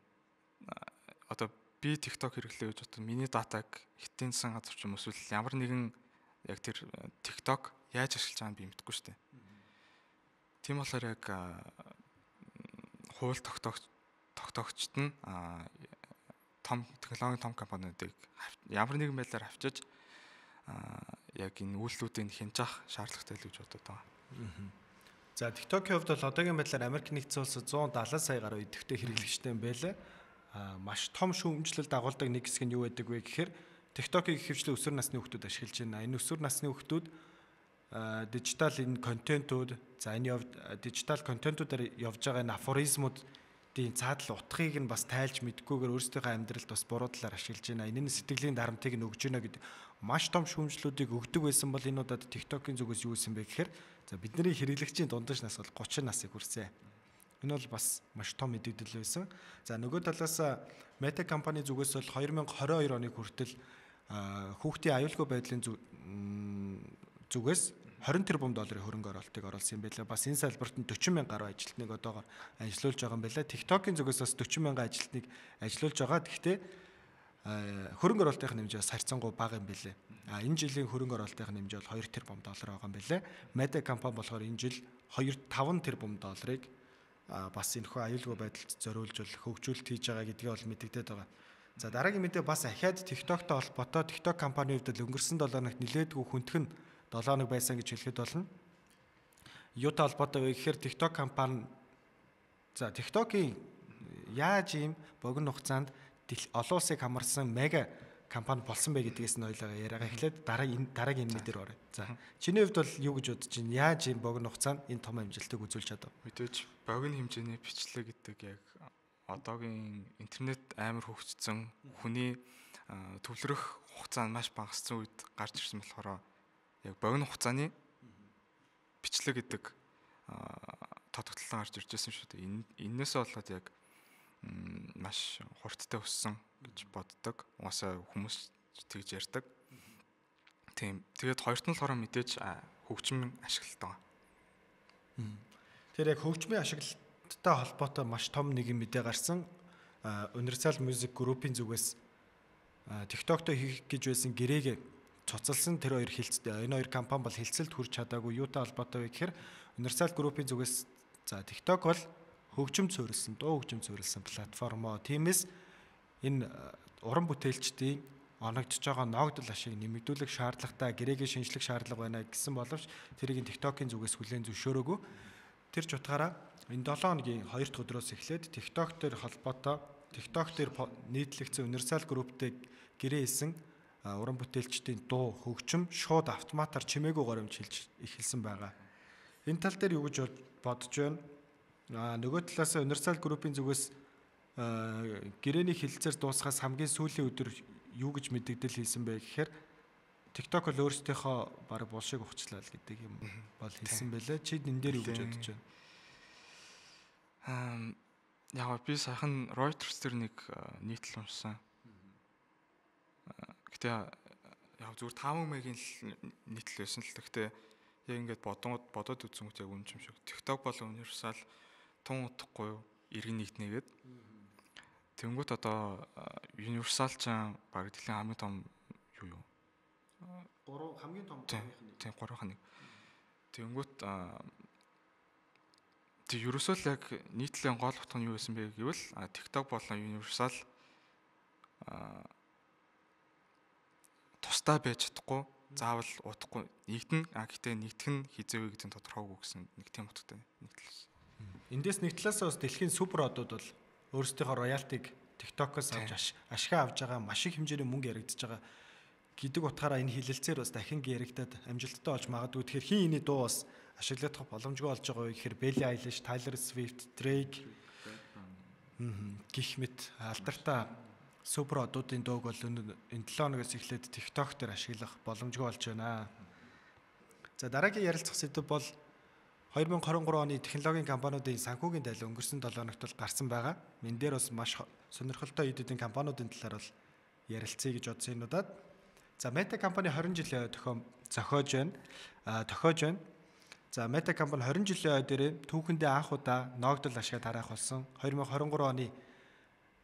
одоо би TikTok хэрэглэе гэж бодсон. Миний датаг хиттийн засгийн газар ч юм эсвэл ямар нэгэн яг тэр TikTok яаж ашиглаж байгааг би мэдэхгүй шүү дээ. Тийм болохоор яг хууль тогтоогч тогтоогчд нь том технологийн том компаниудыг ямар нэгэн байдлаар авчиж яг энэ үйлдэлүүдийг хянжих шаардлагатай л гэж бодод байгаа. За TikTok-ийн хувьд бол одоогийн байдлаар Америк нэгдсэн улсад зуун далайн сая гаруй идэвхтэй хэрэглэгчтэй юм байлаа. Маш том шүүмжлэлд дагуулдаг нэг хэсэг нь юу байдаг вэ гэхээр TikTok-ийг ихэвчлэн өсвөр насны хүүхдүүд ашиглаж байна. Энэ өсвөр насны хүүхдүүд дижитал энэ контентууд за энэ явд дижитал контентуудаар явж байгаа энэ афоризмуудын цаадал утгыг нь бас тайлж мэдгүйгээр өөрсдийнхөө амьдралд бас буруу талаар ашиглаж байна. Энэ нь сэтгэлийн дарамтыг нь өгж байна гэдэг маш том шүүмжлүүдийг өгдөг байсан бол энэ удаад TikTok-ийн зүгээс юу исэн бэ гэхээр за бидний хэрэглэгчийн дундаж нас бол гучин насыг хүрсэн. Энэ бол бас маш том мэдээлэл байсан. За нөгөө талаас Meta компани зүгээс бол две тысячи двадцать two оны хүртэл хүүхдийн аюулгүй байдлын зүгээс twenty тэрбум долларын хөрөнгө оруулалтыг оруулсан юм байлаа. Бас энэ салбарт нь forty мянга гаруй ажилтныг одоогоор ажилуулж байгаа юм байлаа. TikTok-ийн зүгээс бас forty мянга ажилтныг ажилуулж байгаа. Гэхдээ хөрөнгө оруулалтын хэмжээ бас харьцангуй бага юм байлээ. А энэ жилийн хөрөнгө оруулалтын хэмжээ бол two тэрбум доллар байгаа юм байлээ. Meta компани болохоор энэ жил five тэрбум долларыг бас энэхүү аюулгүй байдалд зориулж хөгжүүлэлт хийж байгаа гэдгийг бол мэдэгдээд байгаа. За дараагийн мэдээ бас ахаад TikTok-той холбоотой TikTok компани хувьд өнгөрсөн seven хоногт нэлээдгүй хүндхэн seven хоног байсан гэж хэлэхэд болно. Юутай холбоотой вэ гэхээр TikTok компани за TikTok-ийн яаж ийм богино хугацаанд олон улсыг хамарсан мега компани болсон бэ гэдгээс нь ойлоо яриагаа эхлээд дараагийн дараагийн мэдээр орё. За чиний хувьд бол юу гэж бодож байна? Яаж ийм богино хугацаанд энэ том амжилтыг үзүүлж чадав? Мэдээж богино хэмжээний бичлэг гэдэг яг одоогийн интернет амар хөгжсөн хүний төвлөрөх хугацаа нь маш багассан үед гарч ирсэн болохоор яг богино хугацааны бичлэг гэдэг тодогтлон гарч ирж байсан шүү дээ. Эннээсээ болоод яг маш хурдтай өссөн гэж боддог. Угаасаа хүмүүс тэгж ярьдаг. Тийм. Тэгээд хоёрт нь болохоор мэдээж хөгжмийн ашиглалт байгаа. Тэр яг хөгжмийн ашиглалттай холбоотой маш том нэгэн мэдээ гарсан. Universal Music Group-ийн зүгээс TikTok-той хийх гэж байсан гэрээг цуцалсан тэр хоёр хилцээ. Энэ хоёр компани бол хилцэлд хүрч чадаагүй. Юутай холбоотой вэ гэхээр Universal Group-ийн зүгээс за TikTok бол хөгжим цөөрөлсөн, дуу хөгжим цөөрөлсөн платформоо. Тиймээс энэ уран бүтээлчдийн оногдож байгаа ногдол ашиг нэмэгдүүлэх шаардлагатай гэрээгийн шинжлэх шаардлага байна гэсэн боловч тэрийг TikTok-ийн зүгээс хүлээн зөвшөөрөөгүй. Тэр ч утгаараа энэ долоо хоногийн хоёр дахь өдрөөс эхлээд TikTok дээр холбоотой TikTok дээр нийтлэгдсэн Universal Group-тэй гэрээ хийсэн уран бүтээлчдийн дуу хөгжим шууд автоматар чимээгүй горимж хэлж эхэлсэн байгаа. Энэ тал дээр юу гэж бодож байна? Аа нөгөө талаас Universal Group-ийн зүгээс гэрээний хилцээр дуусахаас хамгийн сүүлийн өдөр юу гэж мэдэгдэл хийсэн бэ гэхээр TikTok л өөрсдийнхөө баг булшиг ухчлаа л гэдэг юм бол хэлсэн байлаа. Чи энэ дээр юу гэж бодож байна? Аа яг би сайхан Reuters дээр нэг нийтлэл уншсан. Гэтэ яг зүгээр таван мегийн нийтлэл байсан л гэхдээ яг ингээд бодоод бодоод үзсэнгүүт яг үнэн юм шиг. TikTok бол Universal тун утахгүй юу? Иргэн нэгтнээгээд. Тэнгүүт одоо Universal ч баг дэлхийн хамгийн том юу юу? гурав хамгийн том гурвынх нь. Тийм гурвынх нь. Тэнгүүт тэг ерөөсөө л яг нийтлэлийн гол утга нь юу байсан бэ гэвэл TikTok болон Universal тусдаа байж чадахгүй, заавал удахгүй нэгдэн, а гэхдээ нэгдэх нь хизээвэ гэдэг нь тодорхойгүй гэсэн нэг тийм утгатай нийтлэлсэн. Эндээс нэг талаас бас дэлхийн супер одууд бол өөрсдийнхөө роялтиг TikTok-оос авч ашиг авж байгаа маш их хэмжээний мөнгө яригдж байгаа гэдэг утгаараа энэ хилэлцээр бас дахин яригдаад амжилттай болж магадгүй. Тэгэхээр хин энэ дуу бас ашиглах боломжгүй болж байгаа вэ гэхээр Billie Eilish, Taylor Swift, Drake гэх мэт алдартай супер одуудын дууг бол энэ седем хоногоос эхлээд TikTok дээр ашиглах боломжгүй болж байна. За дараагийн ярилцах сэдэв бол две тысячи двадцать три оны технологийн компаниудын санхүүгийн тайлбар өнгөрсөн седем хоногт бол гарсан байгаа. Мен дээр бас маш сонирхолтой эдийн компаниудын талаар бол ярилцъя гэж бодсон юм удаад. За Meta компани twenty жилийн тохиом зохиож байна. А тохиож байна. За Meta компани twenty жилийн дээр түүхэндээ анх удаа ногдол ашигаа тараах болсон. twenty twenty-three оны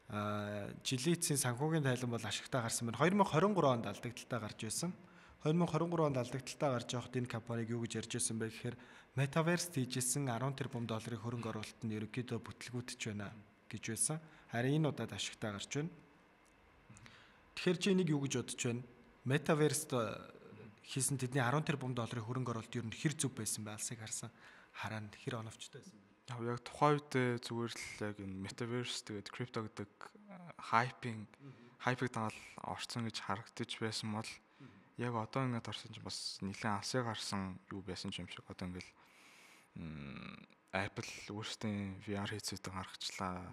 а жилийн эцсийн санхүүгийн тайлан бол ашигтай гарсан байна. twenty twenty-three онд алдагдaltaй гарч байсан. twenty twenty-three онд алдагдaltaй гарч явахад энэ компаниг юу гэж ярьж байсан бэ гэхээр Metaverse хийжсэн ten тэрбум долларын хөрөнгө оруулалт нь ерөнхийдөө бүтлгүүтж байна гэж байсан. Харин энэ удаад ашигтай гарч байна. Тэгэхээр чи энийг юу гэж бодож байна? Metaverse хийсэн тэдний ten тэрбум долларын хөрөнгө оруулалт ер нь хэр зүв байсан бэ? Алсыг харсан хараад хэр оновчтой байсан бэ? Яг яг тухайн үед зүгээр л яг энэ Metaverse тэгээд крипто гэдэг хайпинг хайпыг даал орцсон гэж харагдаж байсан бол яг одоо ингээд орсон чинь бас нэлээд алсыг харсан юу байсан юм шиг. Одоо ингээд Apple өөрсдийн V R headset-ийг гаргачлаа.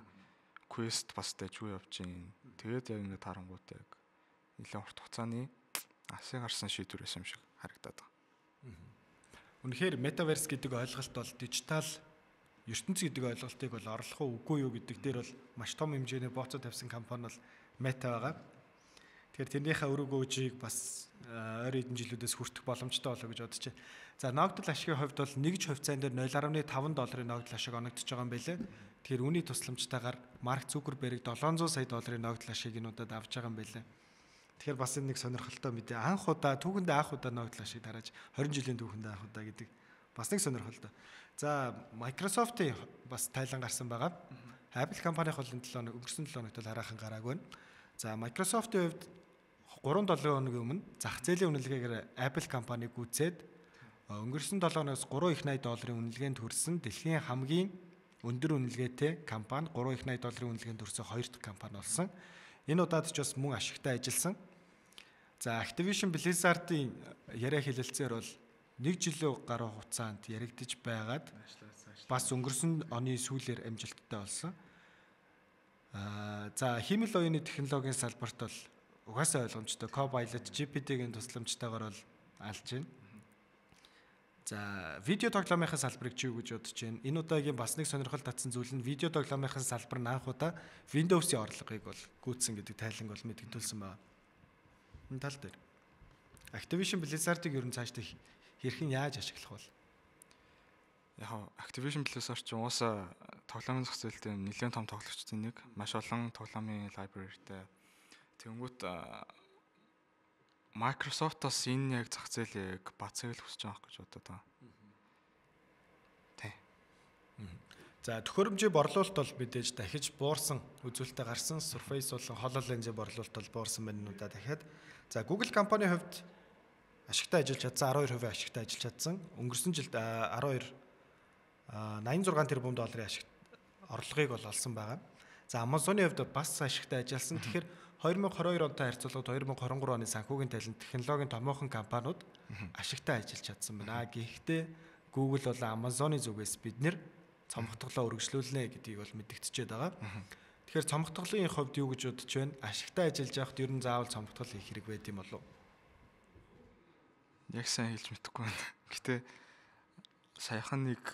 Quest бас дэжгүй явж гин. Тэгээд яг ингээд харангуут яг нэлээд урт хугацааны алсыг харсан шийдвэр байсан юм шиг харагдаад байгаа. Үнэхээр Metaverse гэдэг ойлголт бол дижитал ертөнц гэдэг ойлголтыг бол орлох уу үгүй юу гэдэг дээр бол маш том хэмжээний бооцоо тавьсан компани бол Meta байгаа. Тэгэхээр тэрнийхээ өрөгөөжийг бас ойр эдэн жилүүдээс хүртэх боломжтой болоо гэж бодож байна. За ногдол ашигын хувьд бол нэг ч хувьцаан дээр zero point five долларын ногдол ашиг оногдож байгаа юм байлээ. Тэгэхээр үүний тусламжтайгаар Марк Цукерберг seven hundred сая долларын ногдол ашиг энэ удаад авч байгаа юм байлээ. Тэгэхээр бас энэ нэг сонирхолтой мэдээ. Анх удаа түүхэндээ анх удаа ногдол ашиг тарааж twenty жилийн түүхэндээ анх удаа гэдэг бас нэг сонирхолтой. За Microsoft-ийн бас тайлан гарсан байгаа. Apple компанийн бол энэ seven өнгөрсөн seven хоногт хараахан гараагүй байна. За Microsoft-ийн хувьд three хоногийн өмнө зах зээлийн үнэлгээгээр Apple компаниг гүйцээд өнгөрсөн seven хоногоос three их eighty долларын үнэлгээнд хүрсэн дэлхийн хамгийн өндөр үнэлгээтэй компани three их eighty долларын үнэлгээнд хүрсэн хоёр дахь компани болсон. Энэ удаад ч бас мөн ашигтай ажилласан. За Activision Blizzard-ийн яриа хэлэлцээр бол нэг жилийн гаруй хугацаанд яригдж байгаад бас өнгөрсөн оны сүүлээр амжилттай болсон. Аа за хиймэл оюуны технологийн салбарт бол угаасаа ойлгомжтой Copilot G P T-гийн тусламжтайгаар бол алж байна. За видео тоглоомынхаа салбарыг чи юу гэж бодож байна? Энэ удаагийн бас нэг сонирхол татсан зүйл нь видео тоглоомынхаа салбар нь анх удаа Windows-ийн орлогыг бол гүйцсэн гэдэг тайланг бол мэдгдүүлсэн байна. Энэ тал дээр Activision Blizzard-ыг ер нь цаашдаа хэрхэн яаж ашиглах вэ? Яг Activision Blizzard ч уусаа тоглоомын зах зээлтэй нэлээд том тоглогчдын нэг, маш олон тоглоомын library-тэй. Тэнгүүт Microsoft-ос энэ яг зах зээлийг бацаал хүсэж байгаа гэж бодоод байгаа. Тий. За төхөөрөмжийн борлуулалт бол мэдээж дахиж буурсан, үзүүлэлтэд гарсан Surface болон HoloLens-ийн борлуулалт бол буурсан байна нүдэ дахиад. За Google компани хувьд ашигтай ажиллаж чадсан арван хоёр percent ашигтай ажиллаж чадсан. Өнгөрсөн жилд арван хоёр найман зургаан тэрбум долларын ашиг орлогыг бол олсон байгаа. За Amazon-ийн хувьд бас ашигтай ажилласан. Тэгэхээр две тысячи двадцать two онтой харьцуулбал две тысячи двадцать three оны санхүүгийн талент технологийн томоохон компаниуд ашигтай ажиллаж чадсан байна. Гэхдээ Google болон Amazon-ы зүгээс бид нэр цомогтголоо өргөжлүүлнэ гэдгийг бол мэдэгдчихэд байгаа. Тэгэхээр цомогтголын хувьд юу гэж бодож байна? Ашигтай ажиллаж явахд ер нь заавал цомогтгол хийх хэрэг байд юм болов уу? Яг сайн хэлж мэдэхгүй байна. Гэтэ саяхан нэг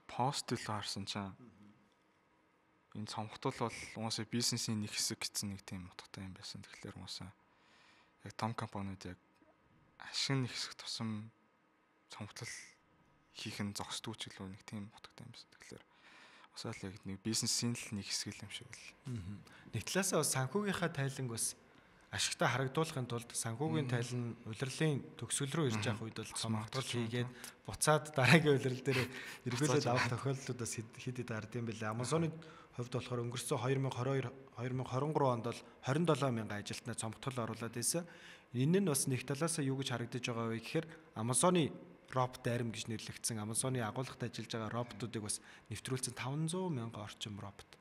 пост л харсан чинь энэ цомогтол бол уусаа бизнесийн нэг хэсэг гэсэн нэг тийм утгатай юм байсан. Тэгэхээр уусаа яг том компаниуд яг ашиг нэг хэсэг тусам цомогтол хийх нь зогсдгүй ч гэлөө нэг тийм утгатай юм байсан. Тэгэхээр уусаа л яг нэг бизнесийн л нэг хэсэг юм шиг л. Нэг талаасаа бас санхүүгийнхаа тайланг бас ашигтай харагдуулахын тулд санхүүгийн тайлан улирлын төгсгөл рүү ирж явах үед бол цомогтол хийгээд буцаад дараагийн улирал дээр эргүүлээд авах тохиолдлууд бас хэд хэд гард юм бэлээ. Amazon-ы хувьд болохоор өнгөрсөн две тысячи twenty-two две тысячи twenty-three онд бол twenty seven мянган ажилтнаа цомогтол оруулаад байсан. Энэ нь бас нэг талаасаа юу гэж харагдаж байгаа вэ гэхээр Amazon-ы робот арим гэж нэрлэгдсэн Amazon-ы агуулгад ажиллаж байгаа роботуудыг бас нэвтрүүлсэн five hundred мянган орчим робот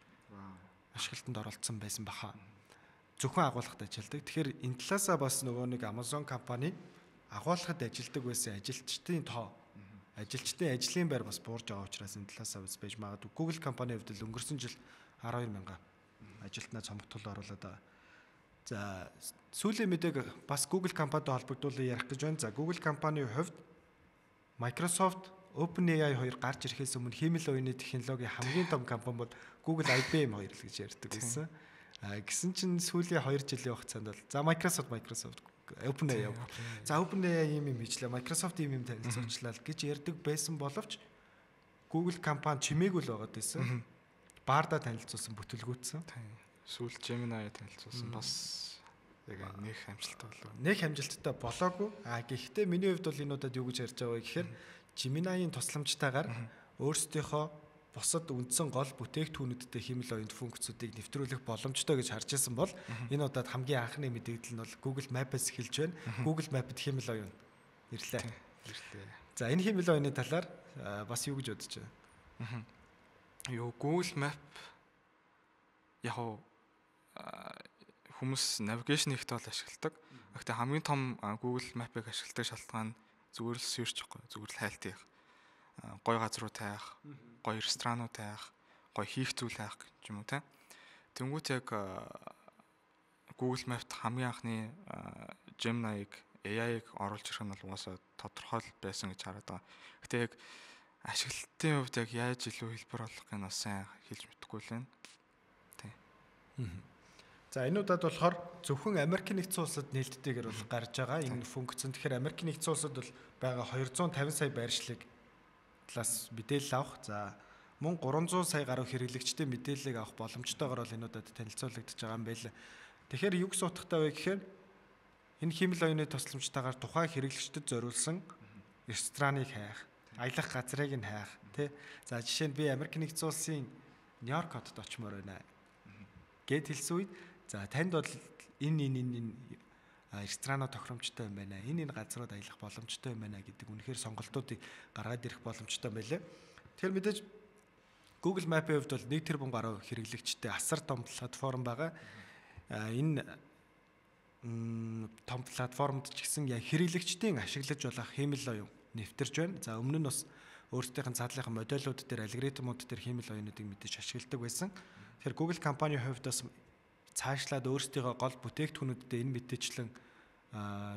ашиглалтанд оролцсон байсан баха. Зөвхөн агуулгад ажилладаг. Тэгэхээр энэ талаасаа бас нөгөө нэг Amazon компани агуулгад ажилладаг байсан ажилчдын тоо, ажилчдын ажлын байр бас буурж байгаа учраас энэ талаасаа бас байж магадгүй. Google компани хувьд л өнгөрсөн жил twelve мянган ажилтнаа цомогтол оруулаад байгаа. За сүүлийн мэдээг бас Google компанитай холбогдуулан ярих гэж байна. За Google компанийн хувьд Microsoft, OpenAI хоёр гарч ирэхээс өмнө хиймэл оюуны технологийн хамгийн том компани бол Google I B M хоёр л гэж ярьдаг байсан. А гисэн чинь сүүлийн two жилийн хугацаанд бол за Microsoft Microsoft OpenAI. За OpenAI юм юм хийчлээ. Microsoft юм юм танилцуулчлаа гэж ярьдаг байсан боловч Google компани чимээгүй л байгаад байсан. Баарда танилцуулсан, бүтэлгүүцсэн. Сүүл Gemini танилцуулсан бас яг нэг амжилттай болов. Нэг амжилттай болоогүй. А гэхдээ миний хувьд бол энэ удаад юу гэж ярьж байгаа вэ гэхээр Gemini-ийн тусламжтайгаар өөрсдийнхөө бусад үндсэн гол бүтээгдэхүүнүүдтэй хиймэл оюун функцүүдийг нэвтрүүлэх боломжтой гэж харж байсан бол энэ удаад хамгийн анхны мэдээлэл нь бол Google Map-аас эхэлж байна. Google Map-д хиймэл оюун ирлээ. Ирлээ. За энэ хиймэл оюуны талаар бас юу гэж бодож байна? Юу Google Map яг хүмүүс navigation ихтэй бол ашигладаг. Гэхдээ хамгийн том Google Map-ыг ашигладаг шалтгаан зүгээр л search гэхгүй, зүгээр л хайлт хийх. Гой газруу таах, гой ресторанууд таах, гой хийх зүйл таах гэж юм уу те. Тэнгүүт яг Google Map-т хамгийн анхны Gemini-г A I-г оруулж ирэх нь бол угаасаа тодорхой байсан гэж хараад байгаа. Гэтэ яг ашиглалтын хувьд яг яаж илүү хэлбэр болгохыг нь бас сайн хэлж мэдэхгүй л байна. Тий. За энэ удаад болохоор зөвхөн Америкийн нэгдсэн улсад нээлттэйгээр бол гарч байгаа энэ функц. Тэгэхээр Америкийн нэгдсэн улсад бол байгаа two hundred fifty сая байршлыг талаас мэдээлэл авах. За мөн three hundred сая гаруй хэрэглэгчдийн мэдээллийг авах боломжтойгоор бол энэ удаад танилцуулагдаж байгаа юм байна. Тэгэхээр юу гэсэн утгатай вэ гэхээр энэ хиймэл оюуны тусламжтайгаар тухайн хэрэглэгчдэд зориулсан рестораныг хайх, аялах газрыг нь хайх, тий. За жишээ нь би Америкийн нэгдсэн улсын Нью-Йорк хотод очимоор байна гэд хэлсэн үед за танд бол энэ энэ энэ ресторанаа тохиромжтой юм байна. Энэ энэ газрууд аялах боломжтой юм байна гэдэг үнэхээр сонголтуудыг гаргаад ирэх боломжтой байлээ. Тэгэхээр мэдээж Google Map-ийн хувьд бол нэг тэрбум гаруй хэрэглэгчтэй асар том платформ байгаа. Энэ том платформд ч гэсэн яг хэрэглэгчдийн ашиглаж болох хиймэл оюун нэвтэрж байна. За өмнө нь бас өөрсдийнх нь цаадлынхаа модельүүд дээр алгоритмууд дээр хиймэл оюунуудыг мэдээж ашигладаг байсан. Тэгэхээр Google компанийн хувьд бас цаашлаад өөрсдийнхөө гол бүтээгдэхүүнүүдэд энэ мэдээчлэн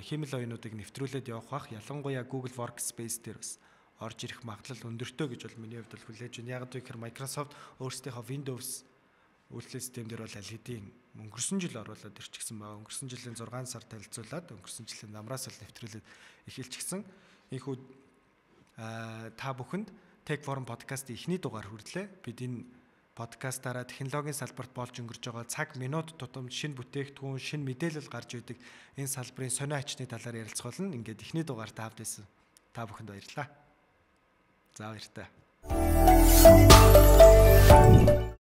хиймэл оюунуудыг нэвтрүүлээд явах бах. Ялангуяа Google Workspace дээр бас орж ирэх магадлал өндөртэй гэж бол миний хувьд бол хүлээж байна. Яг гэвэл Microsoft өөрсдийнхөө Windows үйлдвэрлэлийн систем дээр бол аль хэдийн өнгөрсөн жил оруулаад ирчихсэн байгаа. Өнгөрсөн жилийн зургаан сар танилцуулаад өнгөрсөн жилийн намраас л нэвтрүүлээд эхэлчихсэн. Ийхүү та бүхэнд Tech Forum podcast-ийн эхний дугаар хүрдлээ. Бид энэ подкастаараа технологийн салбарт болж өнгөрж байгаа цаг минут тутамд шинэ бүтээгдэхүүн, шинэ мэдээлэл гарч идэг энэ салбарын сонио ачны талаар ярилцах болно. Ингээд эхний дугаар тавд байсан. Та бүхэнд баярлалаа. За баяртай. баярлалаа.